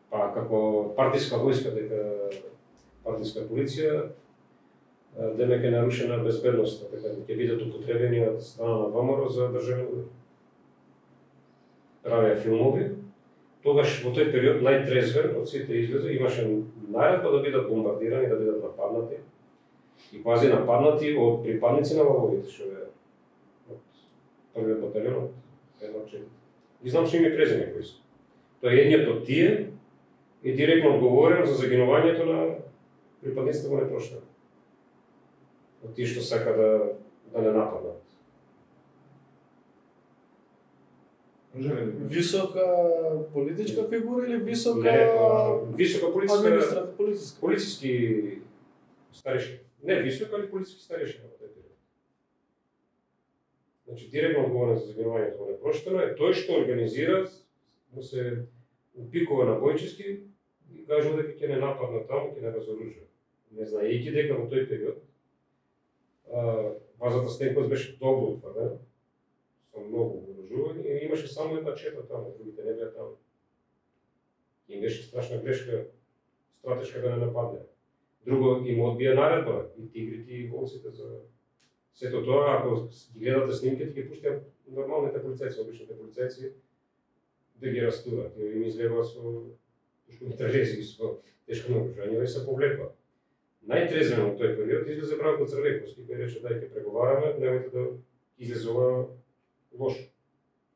Па како партиска војска, дека партиска полиција, демек е нарушена безбедноста, дека ќе бидат употребени од страна на ВМРО за државни удари. Правеа филмови. Тогаш во тој период најтрезвен од сите излезе, имаше наредба да бидат бомбардирани, да бидат нападнати. И пази нападнати од припадници на лавовите, што е од првиот баталион од 1-4. И знам што им презиме кои се. Тоа е едниот од тие и директно одговорен за загинувањето на припадниците во непроштено. Од тие што сака да не нападнат. Висока политичка фигура или висока висока полициски старешина. Не висока, али полициски старешина во тој период. Значи директно одговорен за загинувањето во непроштено е тој што организира да се упикува на бојчески и кажува дека ќе не нападна таму, ќе не разоружува. Не знаејќи дека во тој период базата Стенкос беше добро утврдена, со многу вооружување и имаше само една чета таму, другите не беа таму. Им беше страшна грешка стратешка да не нападне. Друго, им одбија наредба и тигрите и волците за сето тоа, ако ги гледате снимките, ги пуштија нормалните полицајци, обичните полицајци, да ги растурат. И им излегува со пушкомитралези, со тешко наоружање и се повлекува. Најтрезвен во тој период излезе Бранко Црвековски, кој рече дај ќе преговараме, немојте да излезе ова лошо.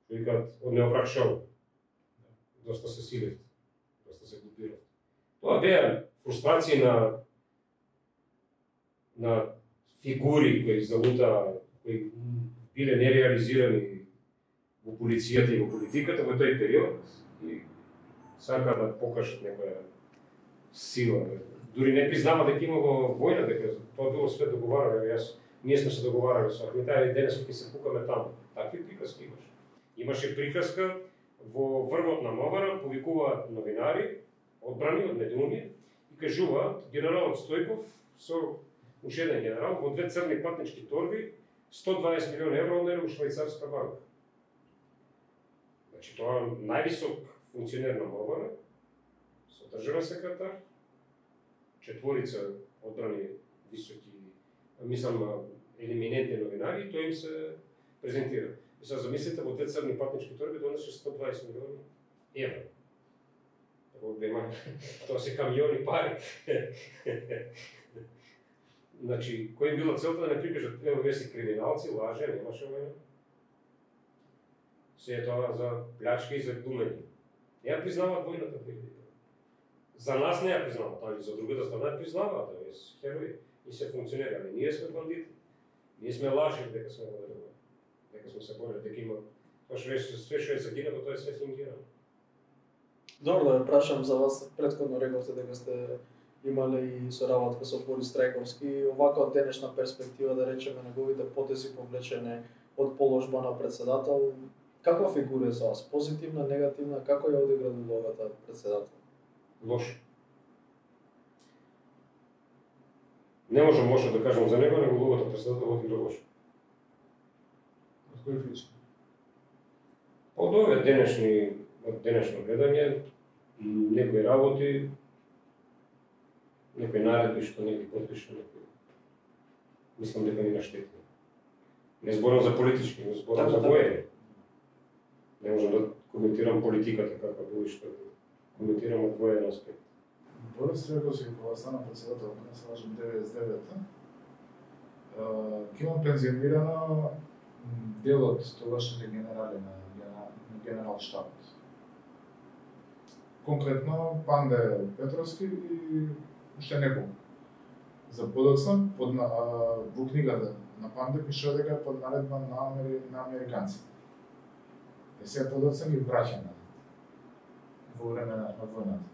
Што викаат од неовраг шоу. Доста се силев, доста се глупирав. Тоа беа фрустрации на фигури кои залута, кои биле нереализирани во полицијата и во политиката во тој период и сака да покажат некоја сила. Дури не признава дека имало војна, дека тоа било све договарано, ние сме се договарали со Ахметаја и денес ќе се пукаме таму. Такви приказки имаше. Имаше приказка во врвот на МВР, повикуваат новинари, одбрани од медиуми и кажуваат генералот Стојков со уште еден генерал во 2 црни патнички торби 120 милиони евро однеле у швајцарска банка. Значи тоа највисок функционер на МВР, со државен секретар, 4 одбрани високи, елиминентни новинари, и тој им се презентира. И сега замислите, во 2 црни патнички торби донесе 120 милиони евро. Тоа се камиони пари. Значи, кој им била целта да не прикажат, ево вие си криминалци, лаже, немаше војна. Се е тоа за плячка и за думење. Не ја признаваат војната. За нас не ја признаваат, али за другата страна ја признаваат, да се херои и се функционери, али ние сме бандити. Ние сме лажили дека сме водели, дека сме се борили, дека има тоа све што е загинало, тоа е све фингирано. Добро, да ве прашам за вас, претходно рековте дека сте имале и соработка со Борис Трајковски, овака од денешна перспектива, да речеме, неговите потези повлечене од положба на председател, каква фигура е за вас? Позитивна, негативна, како ја одигра улогата председател? Лошо. Не можам лошо да кажам за него, него улогата председател одигра лошо. Од кој причина? Од овие денешно гледање, некои работи, некои наредби што не ги подпише, мислам дека ни наштети. Не зборам за политички, не зборам за воени. Не можам да коментирам политиката каква било и што коментирам од воен аспект. Борис Трајковски кога стана председател, не се лажам 99-та, ќе имам пензионирано дел од тогашните генерали на генерал штабот. Конкретно Панде Петровски и уште неколку. За подоцна, во книгата на Панде пишува дека е под наредба на американците. И сега подоцна ги враќаме во време на војната.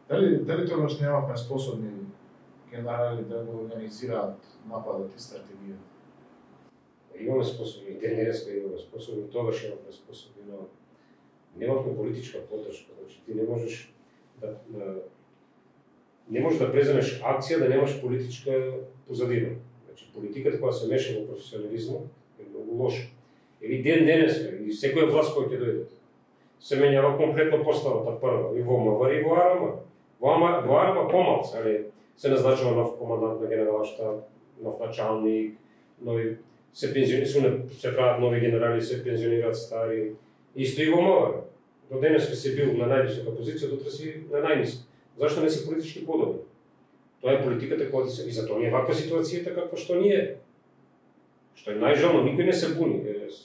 Дали тогаш немавме способни генерали да го организираат нападот и стратегијата? Имаме способи, и денеска имаме способи, тогаш имаме способи, но немавме политичка поддршка. Значи ти не можеш да преземеш акција да немаш политичка позадина. Значи политиката кога се меша во професионализмот е многу лошо. Или денеска, и секоја власт која ќе дојде, се менјава комплетно поставата прва, и во МВР и во АРМ. Во АРМ помалку, али се назначува нов командант на генералштаб, нов началник, нови се прават нови генерали, се пензионираат стари. Исто и во МВР. До денеска се бил на највисока позиција, дотре си на најниска. Зашто не си политички подобни? Тоа е политиката која се и затоа е ваква ситуацијата каква што ни е. Што е најжално, никој не се буни.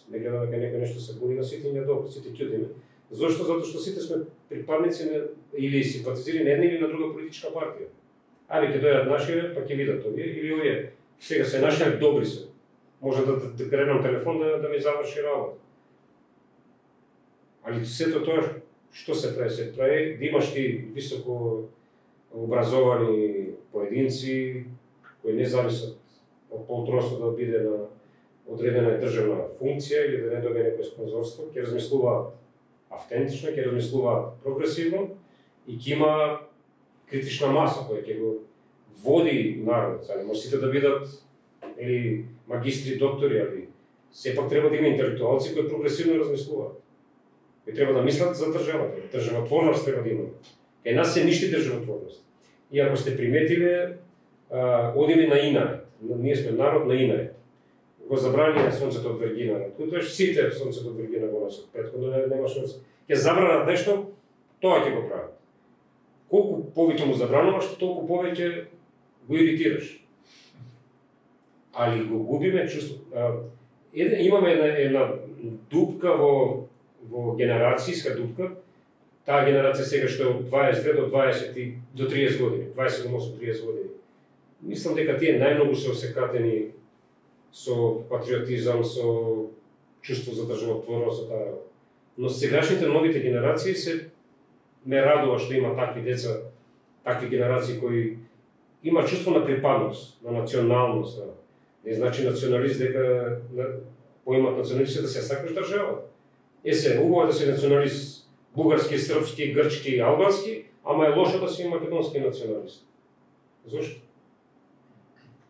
Не гледа дека некој нешто се буни, на сите ни е добро, сите ќутиме. Зошто? Затоа што сите сме припадници или симпатизири на една или на друга политичка партија. Али ќе дојдат нашите, па ќе видат овие или овие. Сега се нашите добри се. Може да кренам телефон да ми заврши работа. Али сето тоа што се прави? Се прави да имаш ти високо образовани поединци кои не зависат од полтроство да биде на одредена државна функција или да не добие некој спонзорство, ќе размислуваат автентично, ќе размислуваат прогресивно и ќе има критична маса која ќе го води народот. Може сите да бидат или магистри, доктори, али сепак треба да има интелектуалци кои прогресивно размислуваат. Кои треба да мислат за државата, државотворност треба да има. Кај нас се ништи државотворност. И ако сте приметиле, одили на инарет. Ние сме народ на инарет. Го забрани сонцето од Вергина. Тоа сите сонцето од Вергина го носат. Претходно немаш сонце. Ќе забранат нешто, тоа ќе го прават. Колку повеќе му забрануваш, толку повеќе го иритираш. Али го губиме чувство. Имаме една дупка во генерацијска дупка. Таа генерација сега што е од 22 до 20 до 30 години, 27-30 години. Мислам дека тие најмногу се осекатени со патриотизам, со чувство за државотворност, со таа. Но сегашните новите генерации се ме радува што има такви деца, такви генерации кои има чувство на припадност, на националност. Не значи националист дека поимат националист да се сакаш држава. Убаво да си националист бугарски, српски, грчки, албански, ама е лошо да си македонски националист. Зошто?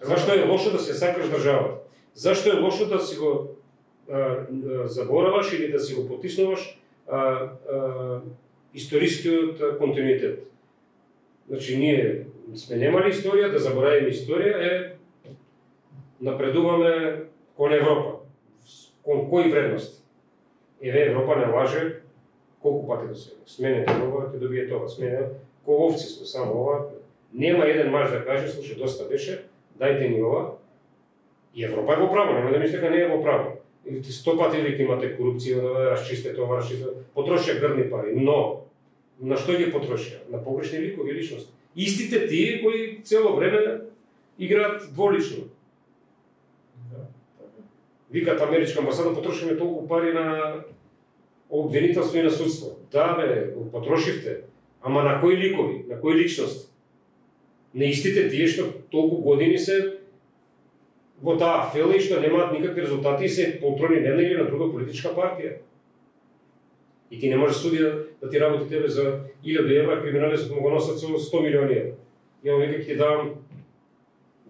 Зашто е лошо да се сакаш државата? Зашто е лошо да си го забораваш или да си го потиснуваш историскиот континуитет? Значи, ние сме немали историја, да заборавиме историја напредуваме кон Европа. Кон кои вредности? Еве Европа не лаже колку пати до сега. Сменете ова, ќе добие тоа. Сменете, ко овци сме, само ова. Нема еден маж да каже, слушай, доста беше, дајте ни ова. И Европа е во право, нема да мислите дека не е во право. 100 пати веќе имате корупција, расчистете ова, расчистете. Потрошија грдни пари, но на што ги потрошија? На погрешни ликови личности. Истите тие кои цело време играат дволично. Викат америчка амбасада, потрошиме толку пари на обвинителство и на судство. Да бе, потрошивте. Ама на кои ликови, на кои личности? На истите тие што толку години се во таа афела и што немаат никакви резултати и се полтрони на една или на друга политичка партија. И ти не може судија да ти работи тебе за 1000 евра, криминалистот му го носат со 100 милиони евра. Ја века ќе ти давам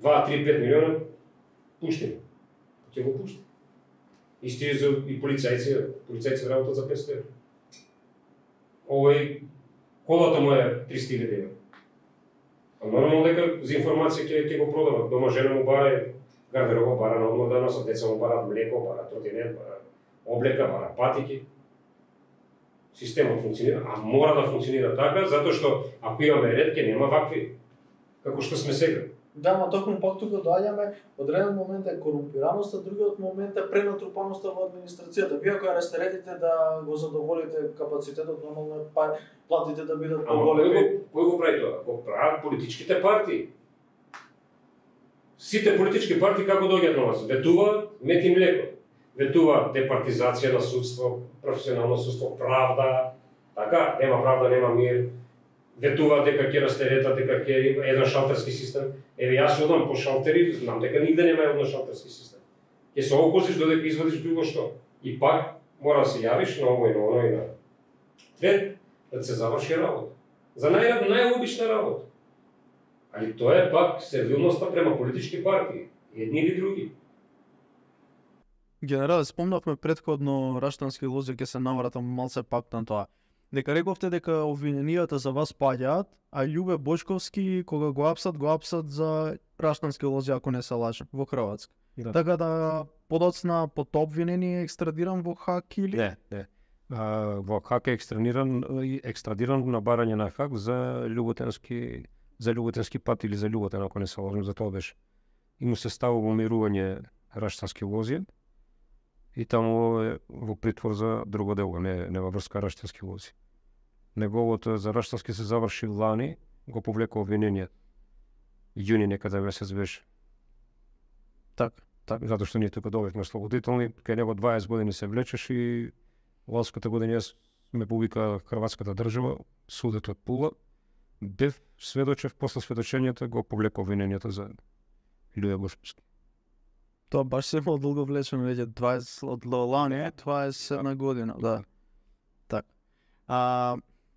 2, 3, 5 милиона, пушти ме. Ќе го пушти. Исти и полицајци работат за 500 евра. Овој колата му е 300.000 евра. А нормално дека за информација ќе го продават. Дома жена му бара гардероба, бара на одмор да носат, деца му барат млеко, бара тротинет, бара облека, бара патики. Системот функционира, а мора да функционира така, затоа што ако имаме ред, ќе нема вакви, како што сме сега. Да, ма токму пак тука доаѓаме, од еден момент е корумпираноста, другиот момент е пренатрупаноста во администрацијата. Вие ако ја растеретите да го задоволите капацитетот, нормално платите да бидат поголеми. Кој го прави тоа? Го прават политичките партии. Сите политички партии како доаѓаат на вас? Ветуваат мет и млеко. Ветуваат департизација на судство, професионално судство, правда, така, нема правда, нема мир. Ветуваат дека ќе растеретат, дека ќе има еден шалтерски систем. Еве јас одам по шалтери, знам дека нигде нема еден шалтерски систем. Ќе се окозиш додека извадиш било што. И пак мора да се јавиш на ово и на оно и на трет, да се заврши работа. За најобична работа. Али тоа е пак сервилноста према политички партии, едни или други. Генерале, спомнавме претходно Раштански лози, ќе се навратам малце пак на тоа. Дека рековте дека обвиненијата за вас паѓаат, а Љубе Бошковски кога го апсат за Раштански лози, ако не се лажам, во Хрватска. Да. Така да подоцна под обвинение екстрадиран во ХАК или? Не. Во ХАК е екстрадиран на барање на ХАК за Љуботенски пат или за Љуботен, ако не се лажам, за тоа беше. И му се става во мирување Раштански лози. И таму е во притвор за друго дело, не во врска Раштански лози. Неговото за Раштански се заврши лани, го повлеко обвинение. Јуни некаде месец беше. Так. Затоа што ние тука добивме слободителни, кај него 20 години се влечеш и ланската година ме повика хрватската држава, судот од Пула, бев сведочев, после сведочењето го повлеко обвинението за Љубе Бошковски. Тоа баш се долго влечено, веќе 20 од лани, 21 година, да. Так.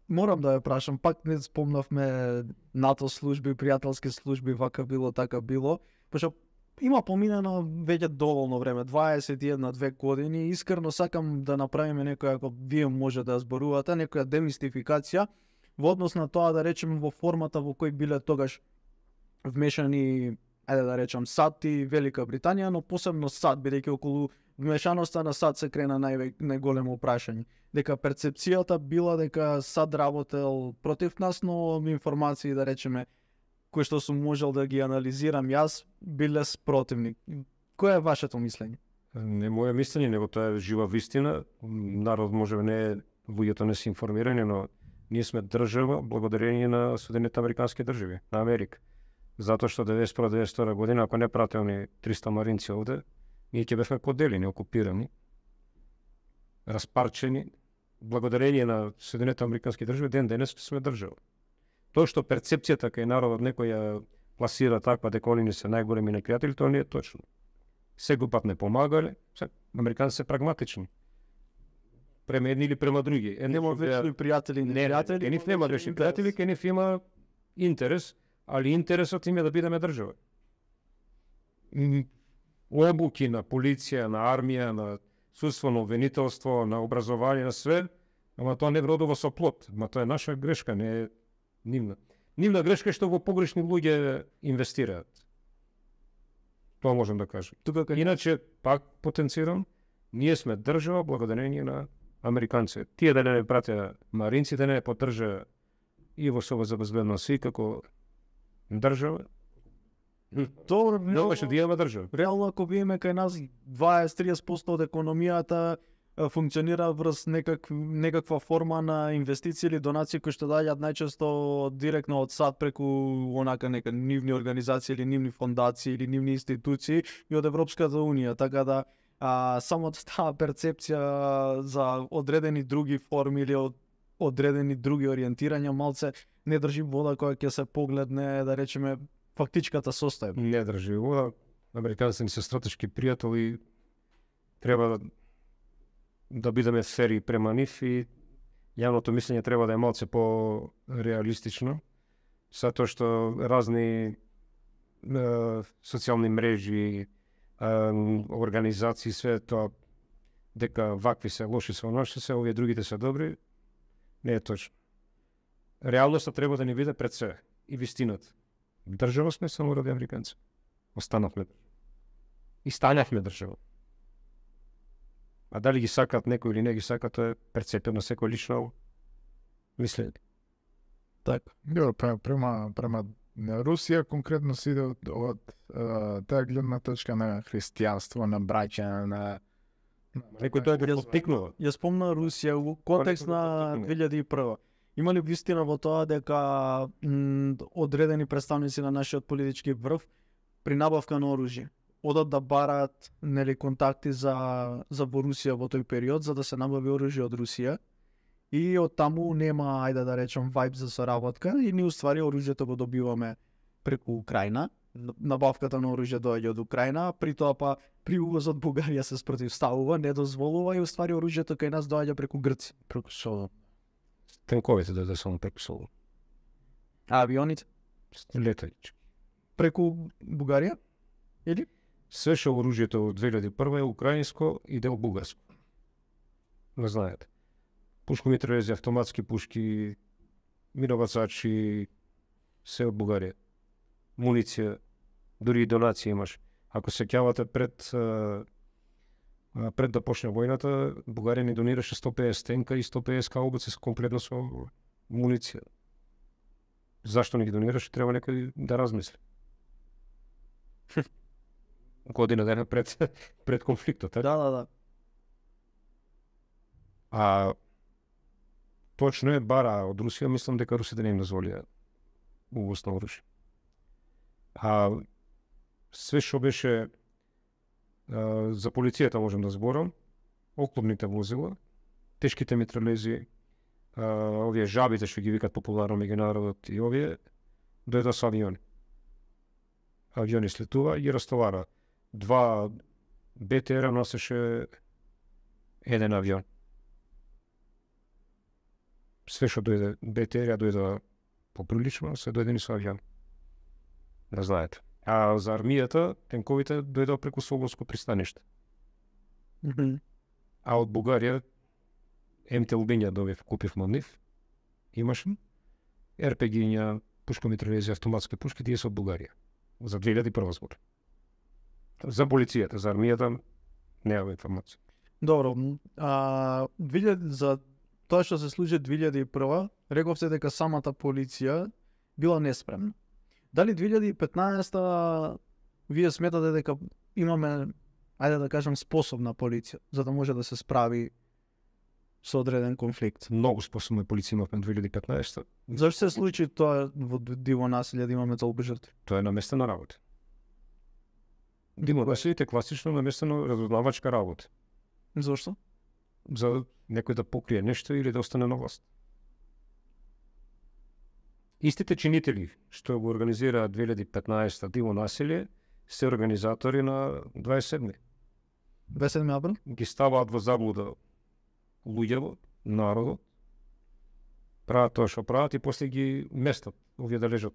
Морам да ја прашам, пак не спомнавме НАТО служби, пријателски служби, вака било, така било, пошто има поминено веќе доволно време, 21-2 години, искрено сакам да направиме некоја, ако вие може да ја зборувате, некоја демистификација во однос на тоа, да речеме, во формата во кој биле тогаш вмешани, ајде да речам, САД и Велика Британија, но посебно САД, бидејќи околу вмешаноста на САД се крена најголемо прашање. Дека перцепцијата била дека САД работел против нас, но информации, да речеме, кои што сум можел да ги анализирам јас, биле спротивни. Кој е вашето мислење? Не моје мислење, него тоа е жива вистина. Народ може не, луѓето не се информирани, но ние сме држава благодарение на Соединетите Американски држави, на Америка. Затоа што 1991-1992 година, ако не прателни 300 маринци овде, ние ќе бевме поделени, окупирани, распарчени благодарение на Соединените Американски држави, ден денес сме држава. Тоа што перцепцијата кај народот некој ја пласира таква дека они не се најголеми непријатели, тоа не е точно. Секој пат не помагале, американци се прагматични. Према едни или према други. Нема вечни пријатели, непријатели. Ке нив нема вечни пријатели, ке нив има интерес, али интересот им е да бидеме држава. Обуки на полиција, на армија, на судство, на обвинителство, на образование, на све, ама тоа не вродува со плод. Ама тоа е наша грешка, не е нивна. Нивна грешка е што во погрешни луѓе инвестираат. Тоа можем да кажем. Иначе, пак потенцирам, ние сме држава благодарение на американци. Тие да не пратеа маринците, не поддржа и во Совет за безбедност и како држава. Добро, Не беше да имаме држава. реално ако видиме кај нас 20-30% од економијата функционира врз некаква форма на инвестиции или донации кои што доаѓаат најчесто директно од САД преку онака нека нивни организации или нивни фондации или нивни институции и од Европската унија, така да самото таа перцепција за одредени други форми или од одредени други ориентирања малце не држи вода кога ќе се погледне, да речеме, фактичката состојба. Не држи вода. Американците ни се стратешки пријатели, треба да бидеме фери према нив и јавното мислење треба да е малце по-реалистично, затоа што разни социјални мрежи, организации, све тоа дека вакви се лоши се оноши се, овие другите се добри, не е точно. Реалноста треба да ни биде пред се и вистината. Држава сме само ради американци. Останавме и станавме држава. А дали ги сакат некој или не ги сакат, тоа е перцепија на секој лично мислење. Така. Добро, према Русија конкретно си иде од таа гледна точка на христијанство, на браќа, на Некој тоа го поттикнува. Ја спомна Русија во контекст на 2001. Има ли вистина во тоа дека одредени представници на нашиот политички врв при набавка на оружје одат да бараат контакти за во Русија во тој период за да се набави оружје од Русија и од таму нема, ајде да речем, вајб за соработка и ние уствари оружјето го добиваме преку Украина. Набавката на оружје доаѓа од Украина, при тоа па при увозот Бугарија се спротивставува, не дозволува и уствари оружјето кај нас доаѓа преку Грција, преку Солун. Тенковите да само преку Солун. А авионите Летајќи. преку Бугарија? Или? Све што оружјето од 2001 е украинско и дел бугарско. Не знаете. Пушкомитралези, автоматски пушки, минобацачи, се од Бугарија. Муниција, дури и донација имаш. Ако се сеќавате пред да почне војната, Бугарија ни донираше 150 тенка и 150 каубици комплетно со муниција. Зашто не ги донираше, треба некој да размисли. Година дена пред конфликтот, така? Да. А точно е бара од Русија, мислам дека русите не им дозволија увоз на оружје. А све што беше за полицијата можем да зборам, оклопните возила, тешките митралези, овие жабите што ги викат популарно меѓу народот и овие, дојдоа со авиони. Авиони слетува и растовара. 2 БТР носеше еден авион. Све што дојде БТР дојде поприлично, се дојдени со авион. Да знаете. А за армијата, тенковите дојдоа преку Солунско пристаниште. А од Бугарија, МТ-лбиња добив, купивме од нив, имаше РПГ-ња, пушкомитралези, автоматски пушки, тие се од Бугарија. За 2001 збор. За полицијата, за армијата, немаме информација. Добро, за тоа што се случи 2001, рековте дека самата полиција била неспремна. Дали 2015 вие сметате дека имаме, ајде да кажем, способна полиција, за да може да се справи со одреден конфликт? Многу способна полиција имавме 2015. Зашто се случи тоа во диво населје да имаме толку жртви? Тоа е наместена работа. Диво населите класично наместено разузнавачка работа. Зошто? за некој да покрие нешто или да остане на власт. Истите чинители што го организираат 2015 диво насилие се организатори на 27. 27 април? Ги ставаат во заблуда луѓето, народот, прават тоа што прават и после ги местат, овие да лежат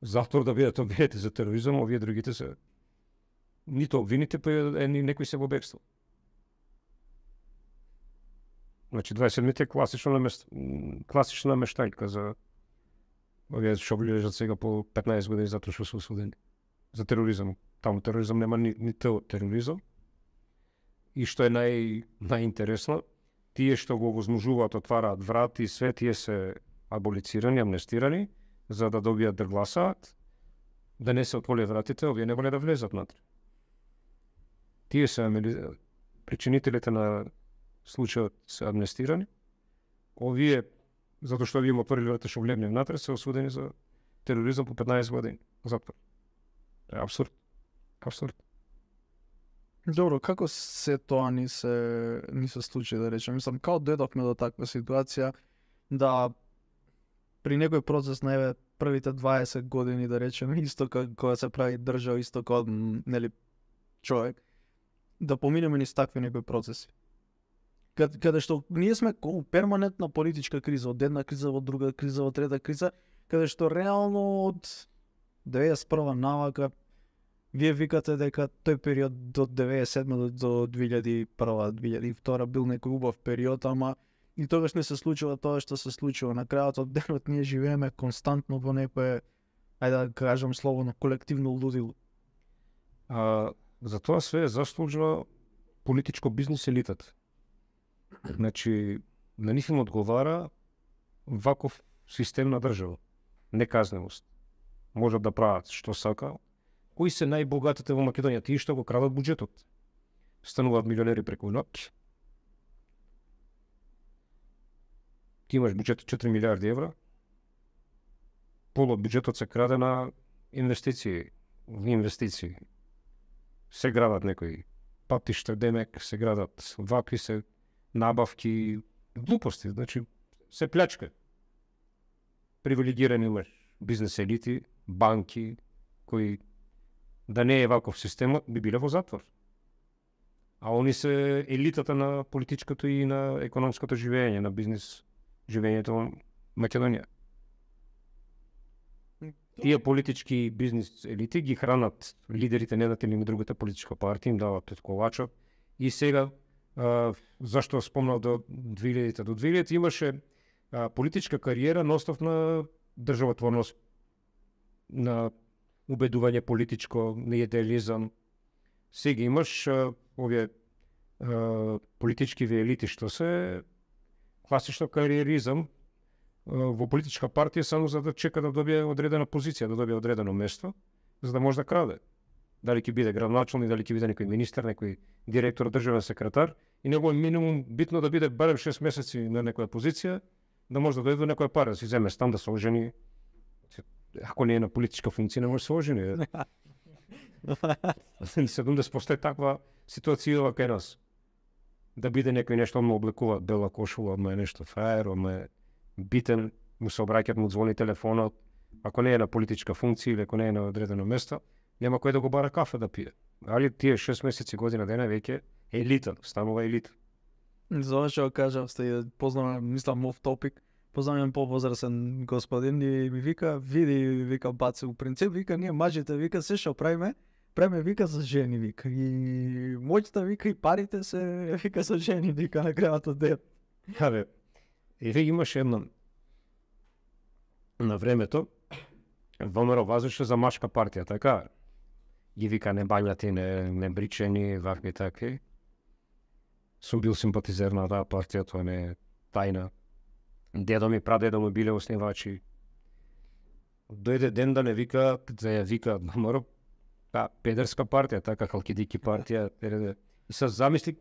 затвор да бидат обвинети за тероризам, овие другите се нито обвините, па некои се во бегство. Значи 27-те е класична намештајка за овие што лежат сега по 15 години затоа што се осудени за тероризам. Таму тероризам нема ни тероризам. И што е најинтересно, тие што го возможуваат, отвараат врати и све, тие се аболицирани, амнестирани, за да добијат да гласаат, да не се отволе вратите, овие не воле да влезат натре. Тие се причинителите на случајот се амнестирани, овие, затоа што овие им отворили врата што влегне внатре, се осудени за тероризам по 15 години затвор. Абсурд. Абсурд. Добро, како се тоа ни се случи, да речем? Мислам, као дојдовме до таква ситуација да при некој процес на првите 20 години, да речем, исто кога се прави држава, исто кога нели човек, да поминеме низ такви некои процеси. Каде што ние сме перманентна политичка криза, од една криза во друга криза, во трета криза, каде што реално од 91 навака вие викате дека тој период до 97 до 2001-2002 бил некој убав период, ама и тогаш не се случува тоа што се случува. На крајот од денот ние живееме константно во некое, ајде да кажам слободно, колективно лудило. За тоа све заслужува политичко бизнис елитата. Значи, на нив им одговара ваков систем на држава. Неказневост. Можат да прават што сака. Кои се најбогатите во Македонија? Тие што го крадат буџетот. Стануваат милионери преку ноќ. Ти имаш буџет 4 милиарди евра. Пол од буџетот се краде на инвестиции. Се градат некои патишта, демек, се градат вакви се набавки, глупости, значи се плячка. Привилегирани имаш бизнес елити, банки, кои да не е ваков системот, би биле во затвор. А они се елитата на политичкото и на економското живење, на бизнес живењето во Македонија. Тие политички бизнес елити ги хранат лидерите на едната или на другата политичка партија, им дават колачот. И сега, зашто спомнав до 2000-те, до 2000 имаше политичка кариера на основ на државотворност, на убедување политичко, на идеализам. Сега имаш овие политички елити што се класично кариеризам во политичка партија само за да чека да добие одредена позиција, да добие одредено место, за да може да краде. Дали ќе биде градоначалник, дали ќе биде некој министер, некој директор, државен секретар, и него е минимум битно да биде барем 6 месеци на некоја позиција, да може да дојде до некоја пара, да си земе стан, да се ожени. Ако не е на политичка функција, не може да се ожени. 70% е таква ситуација кај нас. Да биде некој нешто, му облекува бела кошула, одма е нешто фраер, одма е битен, му се обраќат, му звони телефонот. Ако не е на политичка функција или ако не е на одредено место, нема кој да го бара кафе да пие. Али тие 6 месеци, година дена веќе елита, станува елита. За ова што кажав, познавам, мислам off topic, познавам повозрасен господин и ми вика, види, вика, баце, у принцип, вика, ние мажите, вика, се што правиме, вика за жени, вика, и моќта, вика, и парите се, вика, за жени, вика, на крајот од ден. Абе, или имаше едно на времето, ВМРО вазеше за машка партија, така? Ги вика не бањати, не бричени, вакви такви. Сум бил симпатизер на таа партија, тоа не е тајна. Дедо ми, прадедо ми биле основачи. Дојде ден да не вика, да ја вика ВМРО, педерска партија, така, халкидики партија. И се замисли,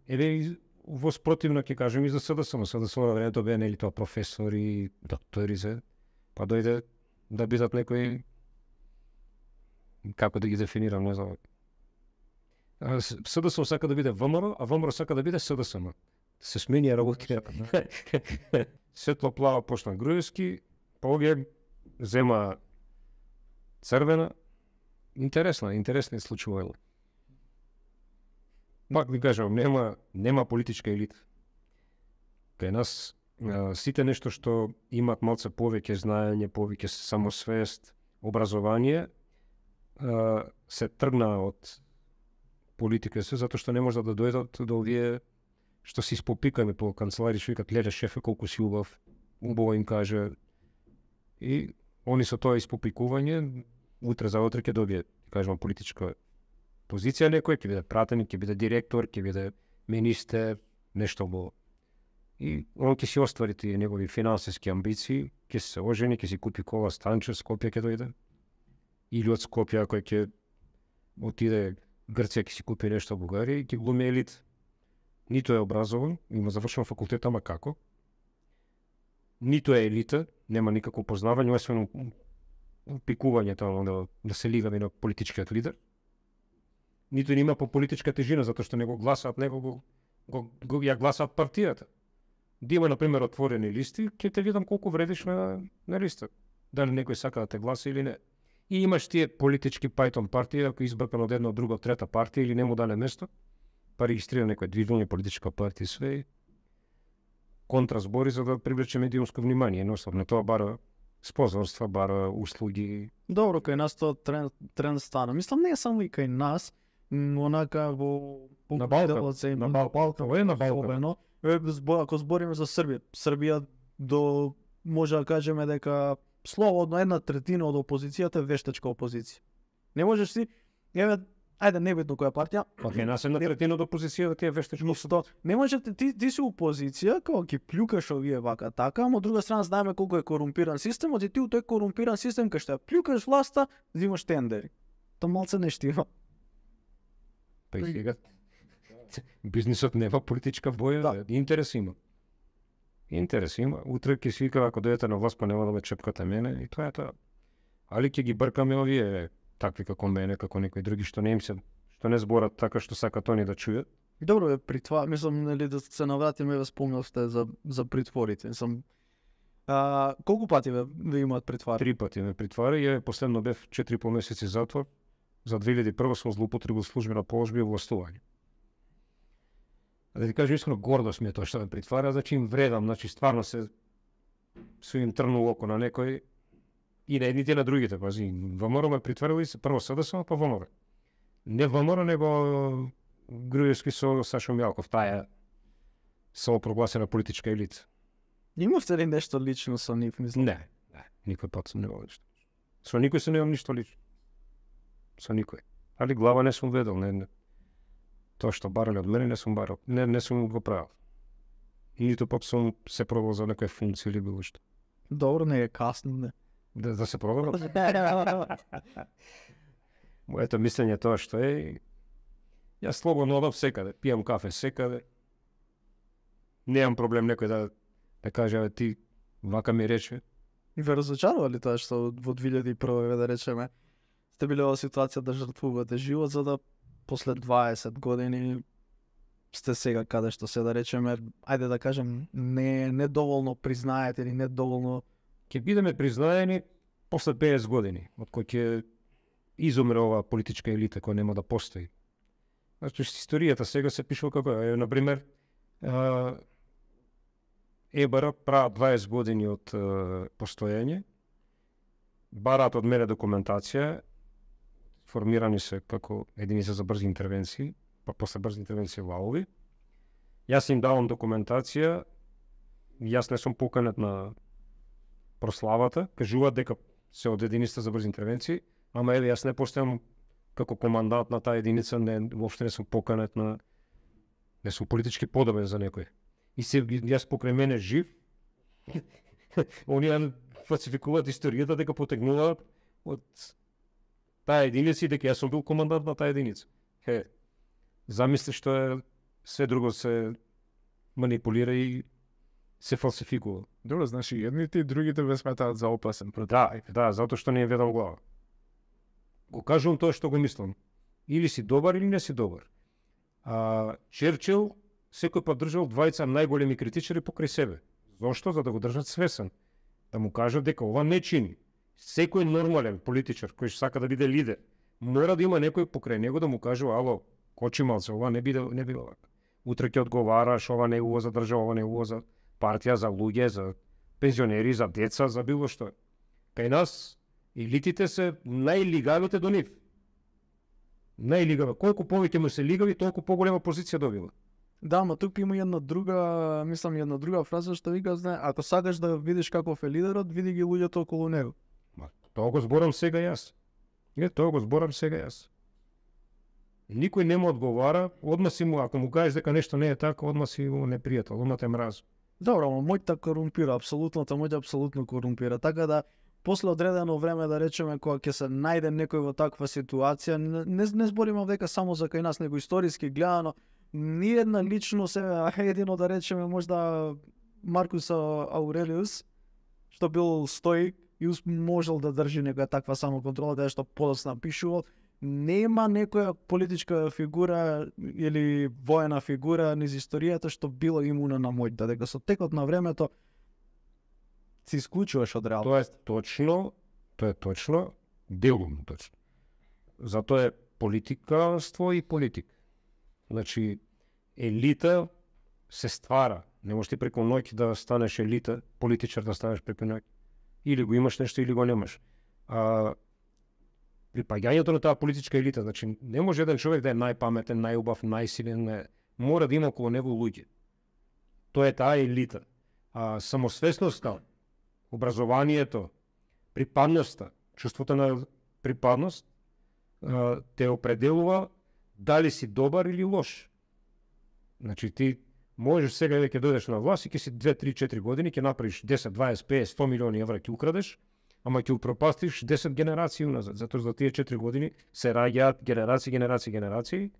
еве во спротивно ќе кажем и за СДСМ. СДСМ на времето беа нели тоа професори, доктори се, па дојде да бидат некои, како да ги дефинирам, не знам. СДСМ сака да биде ВМРО, а ВМРО сака да биде СДСМ. Се смени работи. Светло плава почна Груевски, па овие зема црвена. Интересни случувања. Пак ви кажам, нема политичка елита. Кај нас сите нешто што имат малце повеќе знаење, повеќе самосвест, образование, се тргна од политика се, затоа што не може да дојдат до овие што се испопикаме по канцелари, што викат, леле шефе колку си убав, убаво им каже. И они со тоа испопикување, утре за утре ќе добие, кажам, политичка позиција некој, ќе биде пратеник, ќе биде директор, ќе биде министер, нешто убаво. И он ќе си оствари тие негови финансиски амбиции, ќе се ожени, ќе си купи кола станче, Скопје ќе дојде. Или од Скопје, кој ќе отиде Грција, ќе си купи нешто во Бугарија и ќе глуми елит. Ниту е образован, има завршен факултет, ама како? Ниту е елита, нема никакво познавање, освен пикувањето да се лигаме на политичкиот лидер. Ниту нема по политичка тежина, затоа што не го гласаат него, ја гласаат партијата. Да има, например, отворени листи, ќе те видам колку вредиш на листа. Дали некој сака да те гласа или не. И имаш тие политички пајтон партија, ако избркан од една, од друга, од трета партија или не му даде место, па регистрира некој движење, политичка партија, све контразбори за да привлече медиумско внимание. Едноставно тоа бара спонзорства, бара услуги. Добро, кај нас тоа тренд стана. Мислам, не е само и кај нас, онака во На Балкан. На Балкан. Ако збориме за Србија, Србија може да кажеме дека слободно 1/3 од опозицијата е вештачка опозиција. Не можеш си, ајде небитно која партија. Па кај нас 1/3 од опозицијата ти е вештачка опозиција. Не може ти си опозиција, како ќе плюкаш овие вака така, ама од друга страна знаеме колку е корумпиран системот и ти у тој корумпиран систем кај што ја плюкаш власта, взимаш тендери. Тоа малце не штива. Па и сега бизнисот нема политичка боја, да. Интерес има. Утре ќе свика ако дојдете на власт, па нема да ме чепкате мене и тоа е тоа. Али ќе ги бркаме овие такви како мене, како некои други што не зборат така што сакат они да чујат. Добро, притвор, мислам, нели да се навратиме, ве спомнавте за притворите. Колку пати ве имаат притвор? 3 пати ме притвори, ја последно бев 4,5 месеци затвор. За 2001 сум злоупотребил службена положба и властување. Да ти кажам искрено, гордост ми е тоа што ме притвара, значи им вредам, значи стварно се им трнул око на некој и на едните и на другите, пази. ВМРО ме притварили се прво СДСМ, па ВМРО. Не ВМРО, него Груевски со Сашо Мјалков, таа самопрогласена политичка елита. Имавте ли нешто лично со нив, мислам? Не, никој пат сум немал ништо. Со никој се немам ништо лично. Со никој. Али глава не сум ведел, не. Тоа што барале од мене не сум барал. Не сум го правил. И ниту пак сум се пробал за некоја функција или било што. Добро, не е касно, не. Да се пробал? Моето мислење тоа што е, јас слободно одам секаде, пијам кафе секаде. Немам проблем некој да каже, ти вака ми рече. И ве разочарува ли тоа што во 2001 да речеме сте биле во ситуација да жртвувате живот за да после 20 години сте сега каде што се да речеме, ајде да кажем, не доволно признаете или не доволно ќе бидеме признаени после 50 години, од кој ќе изумре оваа политичка елита која нема да постои. Значи историјата сега се пишува како е, например, ЕБР прават 20 години од постоење, бараат од мене документација, формирани се како единица за брзи интервенции, па после брзи интервенции валови. Јас им давам документација, јас не сум поканет на прославата, кажуваат дека се од единица за брзи интервенции, ама еве јас не постојам како командант на таа единица, воопшто не сум поканет на, не сум политички подобен за некој. И се јас покрај мене жив, оние фалсификуваат историјата дека потегнуваат од таа единица и дека јас сум бил командант на таа единица. Замисли што е све друго се манипулира и се фалсификува. Добро, значи едните и другите ве сметаат за опасен. Да, затоа што не ја ведам глава. Го кажувам тоа што го мислам. Или си добар или не си добар. Черчил секој пат држал двајца најголеми критичари покрај себе. Зошто? За да го држат свесен. Да му кажат дека ова не чини. Секој нормален политичар кој што сака да биде лидер, мора да има некој покрај него да му каже: ало, кочи малце, ова не биде вака. Утре ќе одговараш, ова не е убаво за држава, ова не е убаво за партија, за луѓе, за пензионери, за деца, за било што. Кај нас елитите се најлигавите до нив. Најлигави. Колку повеќе му се лигави, толку поголема позиција добива. Да, ма тук има една друга фраза што вика, знае, ако сакаш да видиш каков е лидерот, види ги луѓето околу него. Тоа го зборам сега јас. Никој не му одговара, одма си му, ако му кажеш дека нешто не е така, одма си му непријател, одма те мрази. Добро, но мојта корумпира, апсолутната мојта апсолутно корумпира, така да после одредено време, да речеме, кога ќе се најде некој во таква ситуација, не збориме дека само за кај нас, него историски гледано, ниедна личност, едино да речеме можда Маркус Аурелиус, што бил стоик и можел да држи некоја таква самоконтрола, да што подоцна пишувал, нема некоја политичка фигура или воена фигура низ историјата што било имуна на моќта, дека со текот на времето се исклучуваш од реалност. Тоа е точно, делумно точно. Затоа е политиканство и политик. Значи, елита се ствара. Не можеш ти преку ноќ да станеш елита, политичар да станеш преку ноќ. Или го имаш нешто, или го немаш. Припаѓањето на таа политичка елита, значи, не може еден човек да е најпаметен, најубав, најсилен, мора да има околу него луѓе. Тоа е таа елита. Самосвесноста, образованието, припадноста, чувството на припадност те определува дали си добар или лош. Значи ти можеш сега да ќе дојдеш на власт и ќе си 2, 3, 4 години, ќе направиш 10, 20, 50, 100 милиони евра ќе украдеш, ама ќе упропастиш 10 генерации уназад, затоа за тие 4 години се раѓаат генерации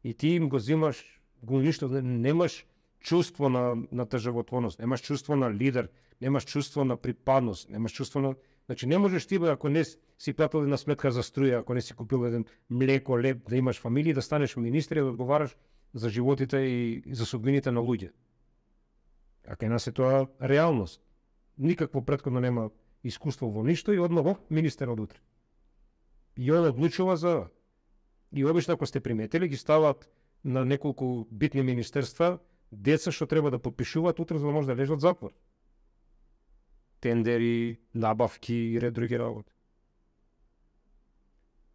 и ти им го зимаш, го уништуваш, немаш чувство на тежавотворност, немаш чувство на лидер, немаш чувство на припадност, немаш чувство на... Значи не можеш ти, ако не си платил една сметка за струја, ако не си купил еден млеко, леп, да имаш фамилија, да станеш министер и да одговараш за животите и за судбините на луѓе. А кај нас е тоа реалност. Никакво претходно нема искуство во ништо и одма министер од утре. И он одлучува за... И обично, ако сте приметили, ги стават на неколку битни министерства деца што треба да подпишуваат утре за да може да лежат в затвор. Тендери, набавки и ред други работи.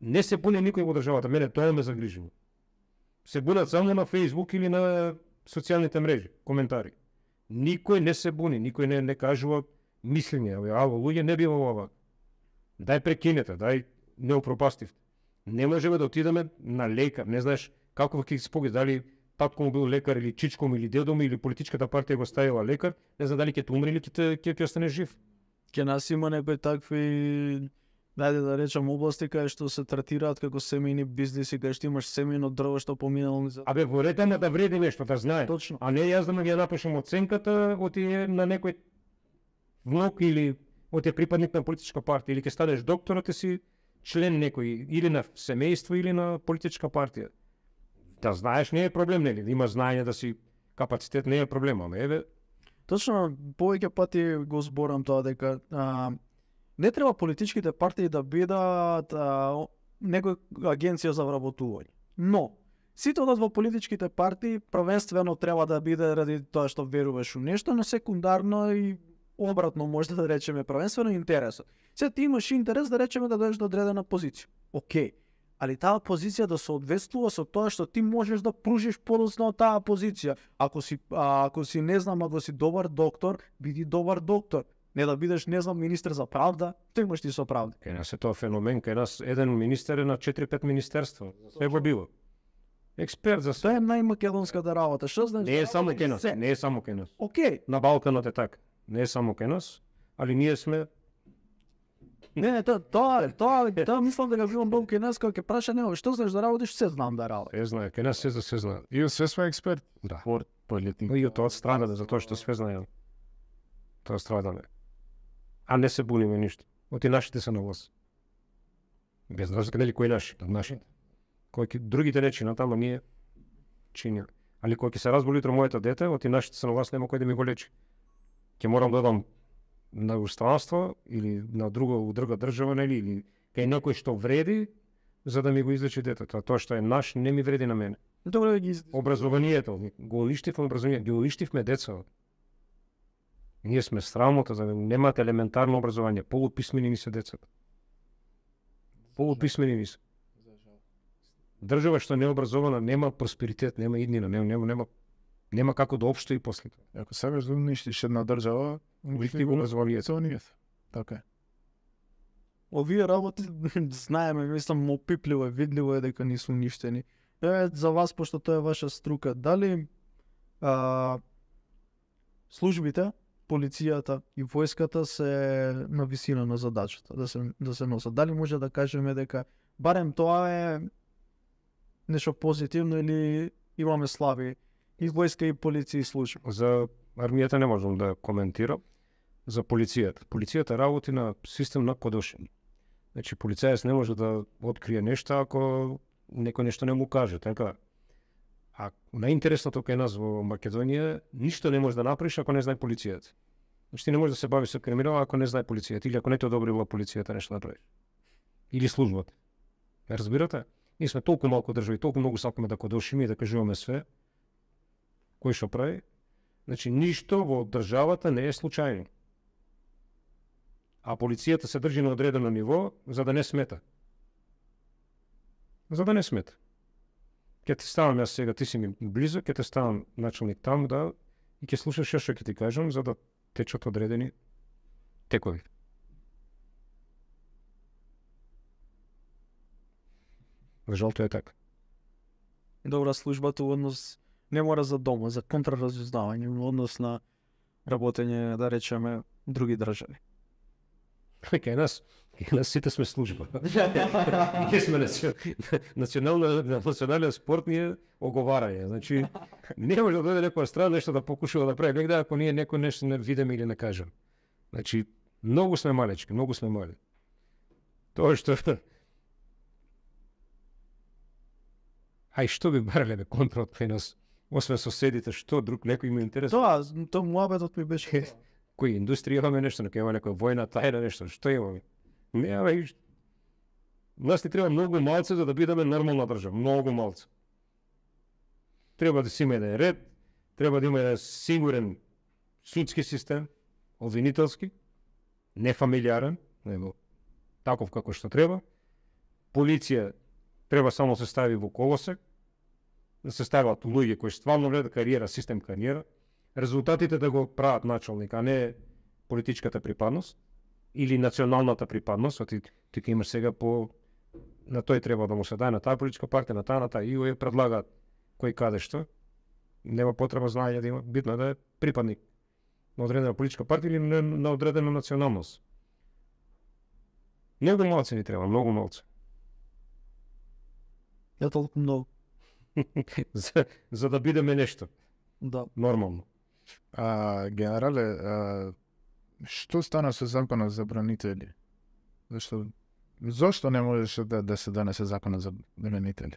Не се буни никој во државата, мене тоа ме загрижува. Се бунат само на Facebook или на социјалните мрежи, коментари. Никој не се буни, никој не кажува мислење, ало, луѓе не бива ова. Дај прекинете, дај не упропастивте. Не можеме да отидеме на лекар, не знаеш како ќе се погине, дали татко му бил лекар или чичко му или дедо му или политичката партија го ставила лекар, не знам дали ќе те умре или ќе остане жив. Ке нас има некои такви, дајде да речам, области кај што се третираат како семејни бизниси, кај што имаш семејно дрво што поминало за... Абе, ворете на да вреди нешто, да знае. Точно. А не јас да ја напишам оценката од на некој внук или од припадник на политичка партија, или ќе станеш доктор, ти си член некој, или на семејство, или на политичка партија. Да знаеш не е проблем, нели? Да има знаење, да си капацитет не е проблем, ама еве. Точно, повеќе пати го зборам тоа дека не треба политичките партии да бидат некоја агенција за вработување. Но сите одат во политичките партии првенствено треба да биде ради тоа што веруваш у нешто, но секундарно и обратно може да речеме првенствено интересот. Сега ти имаш интерес да речеме да дојдеш до одредена позиција. Океј. Али таа позиција да соодветствува со тоа што ти можеш да пружиш подоцна од таа позиција. Ако си не знам, ако си добар доктор, биди добар доктор. Не да бидеш, не знам, министер за правда, тој имаш ти со правда. Кај нас е тоа феномен, кај нас еден министер е на 4-5 министерства. Све го било. Експерт за Тоа е најмакедонската работа. Што знаеш? Не е само кај нас, не е само кај нас. Океј. На Балканот е така. Не е само кај нас, али ние сме... Не, тоа мислам дека било многу кај нас, кога ќе праша него, што знаеш да работиш, се знам да работам. Се знае, кај нас се знае. И све сме експерт. Да. Спорт, политика. И од тоа страдаме, затоа што све знае. Тоа страдаме. А не се буниме ништо. Оти нашите се на власт. Без разлика дали кој наши, нашите. Кој другите не чинат, ама ние чиниме. Али кога ќе се разболи утре моето дете, оти нашите се на власт, нема кој да ми го лечи. Ќе морам да одам на устранство или на друга држава, нели, или кај некој што вреди за да ми го излечи детето. А тоа што е наш не ми вреди на мене. Добро ги Образованието, го уништивме образованието, ги уништивме деца. Ние сме срамота за немаат елементарно образование, полуписмени ни се децата. Полуписмени ни се. Држава што не е образована нема просперитет, нема иднина, нема како да опстои после тоа. Ако сакаш да уништиш една држава, Уништи го образованието. Целнијата. Така е. Овие работи знаеме, мислам, опипливо е, видливо е дека не се уништени. За вас, пошто тоа е ваша струка, дали службите, полицијата и војската се на висина на задачата да се носат? Дали може да кажеме дека барем тоа е нешто позитивно или имаме слаби и војска и полиција и служби? За армијата не можам да коментирам. За полицијата. Полицијата работи на систем на кодошење. Значи полицаец не може да открие нешто ако некој нешто не му каже, така? А најинтересното кај нас во Македонија, ништо не може да направиш ако не знае полицијата. Значи ти не можеш да се бавиш со криминал ако не знае полицијата или ако не те одобрила полицијата нешто да правиш. Или службата. Ме разбирате? Ние сме толку малку држави, толку многу сакаме да кодошиме и да кажуваме све. Кој што прави? Значи ништо во државата не е случајно. А полицијата се држи на одредено ниво за да не смета. За да не смета. Ќе ти ставам јас сега, ти си ми близо, ќе те ставам началник таму, да, и ќе слушаш што ќе ти кажам, за да течат одредени текови. За жал тоа е така. Добра, службата во однос не мора за дома, за контраразузнавање, во однос на работење, да речеме, други држави. Кај нас сите сме служба. Ние сме национален спорт, ние оговарање. Значи, не може да дојде некоја страна нешто да покушува да прави, гледа ако ние некој нешто не видиме или не кажем. Значи, многу сме малечки, многу сме мали. Тоа што Ај што би барале контрол кај нас? Освен соседите, што друг некој има интерес? Тоа муабетот ми беше. Кој индустрија имаме нешто, нека има некоја војна тајна нешто, што имаме? Не, нас ни треба многу малце за да бидеме нормална држава, многу малце. Треба да си има еден ред, треба да има еден сигурен судски систем, обвинителски, нефамилиарен, него таков како што треба. Полиција треба само се стави во колосек, да се стават луѓе кои стварно гледат кариера, систем кариера, резултатите да го прават началник, а не политичката припадност или националната припадност, оти ти имаш сега на тој треба да му се даде на таа политичка партија, на таа и ја предлагаат кој каде што. Нема потреба знаење да има, битно е да е припадник на одредена политичка партија или на одредена националност. Многу малце ни треба, многу малце. Ја толку многу. за да бидеме нешто. Да. Нормално. Генерале, што стана со законот за бранители? Зошто не можеше да се донесе законот за бранители?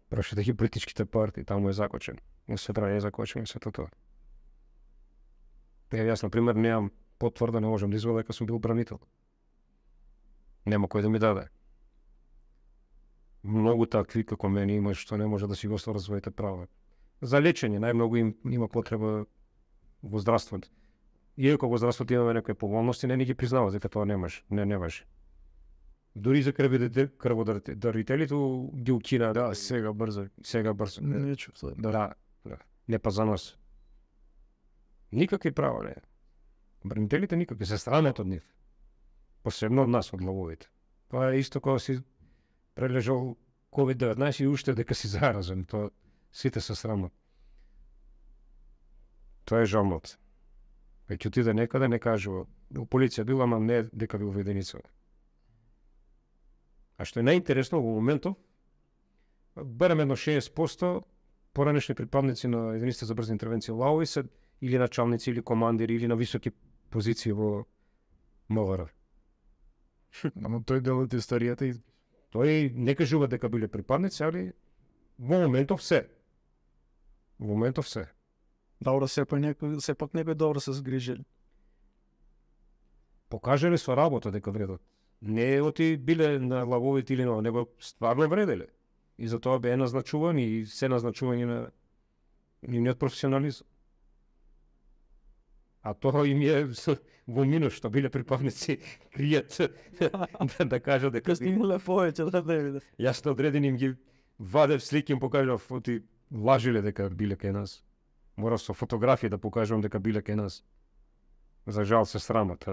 Прашате ги политичките партии, таму е закочен. Не се прави закочен и се тоа. Јас, например, немам потврда, не можам да извадам дека сум бил бранител. Нема кој да ми даде. Многу такви како мене има што не може да си го остварат своите права. За лечење најмногу им има потреба во здравството. Иако во здравството имаме некои поволности, не ни ги признава дека тоа не може. Дури за крводарителите ги укина. Да, сега брзо. Не чув. Да. Не па за нас. Никакви права не. Бранителите никакви, се срамат од нив. Посебно од нас, од лавовите. Тоа е исто кога си прележал COVID-19 и уште дека си заразен. Тоа сите се срамат. Тоа е жалното. Веќе отиде некаде, не кажува. У полиција била, ама не дека бил во единица. А што е најинтересно во моментов, барем едно 60% поранешни припадници на единиците за брзи интервенции лаови се или началници, или командири, или на високи позиции во МВР. Ама тој дел од историјата Тој не кажува дека биле припадници, али во моментов се. Во моментов се. Добро, сепак некој добро се згрижили. Покажале со работа дека вредат. Не оти биле на лавовите или на, него стварно вределе. И за тоа беа назначувани и се назначување на нивниот професионализм. А тоа им е во минус што биле припадници кријат да кажат дека Кај имале повеќе да не биде. јас на одредени им ги вадев слики им покажав оти лажиле дека биле кај нас. Морав со фотографии да покажувам дека биле кај нас. За жал се срамат,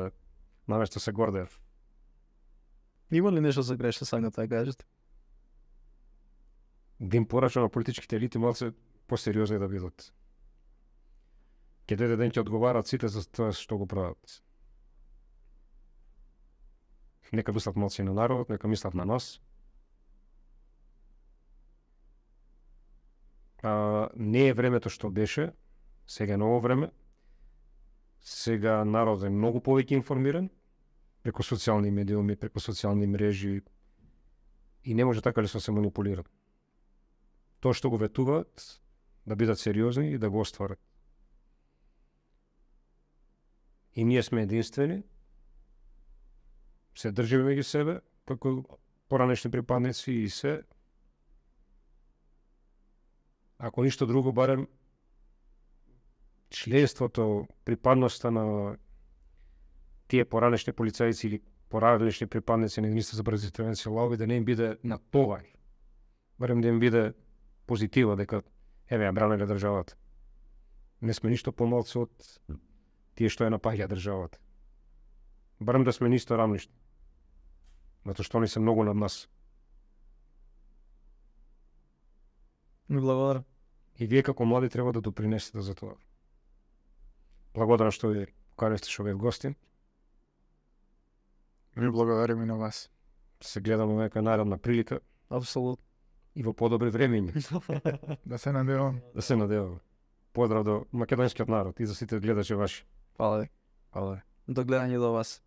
наместо се гордеев. Има ли нешто за грешно сакате да кажете? Да им порача на политичките елити малце посериозни да бидат. Ке дојде ден ќе одговарат сите за тоа што го прават. Нека мислат малце на народот, нека мислат на нас. Не е времето што беше, сега е ново време. Сега народот е многу повеќе информиран преку социјални медиуми, преку социјални мрежи и не може така лесно се манипулира. Тоа што го ветуваат, да бидат сериозни и да го остварат. И ние сме единствени, се држиме меѓу себе, како поранешни припадници и се. Ако ништо друго, барем членството, припадноста на тие поранешни полицајци или поранешни припадници на единица за брза интервенција лаови да не им биде натовар. Барем да им биде позитива дека еве ја бранеле државата. Не сме ништо помалци од тие што ја напаѓа државата. Барем да сме нисто рамнишни. Затоа што они се многу над нас. Ми благодарам. И вие како млади треба да допринесете за тоа. Благодарам што ви поканете што бев гостин. Ви благодарим и на вас. Се гледаме нека наредна прилика Апсолутно. и во подобри времења. Да се надевам. Да се надеваме. Поздрав до македонскиот народ и за сите гледачи ваши. Фала ви. Фала. До гледање до вас.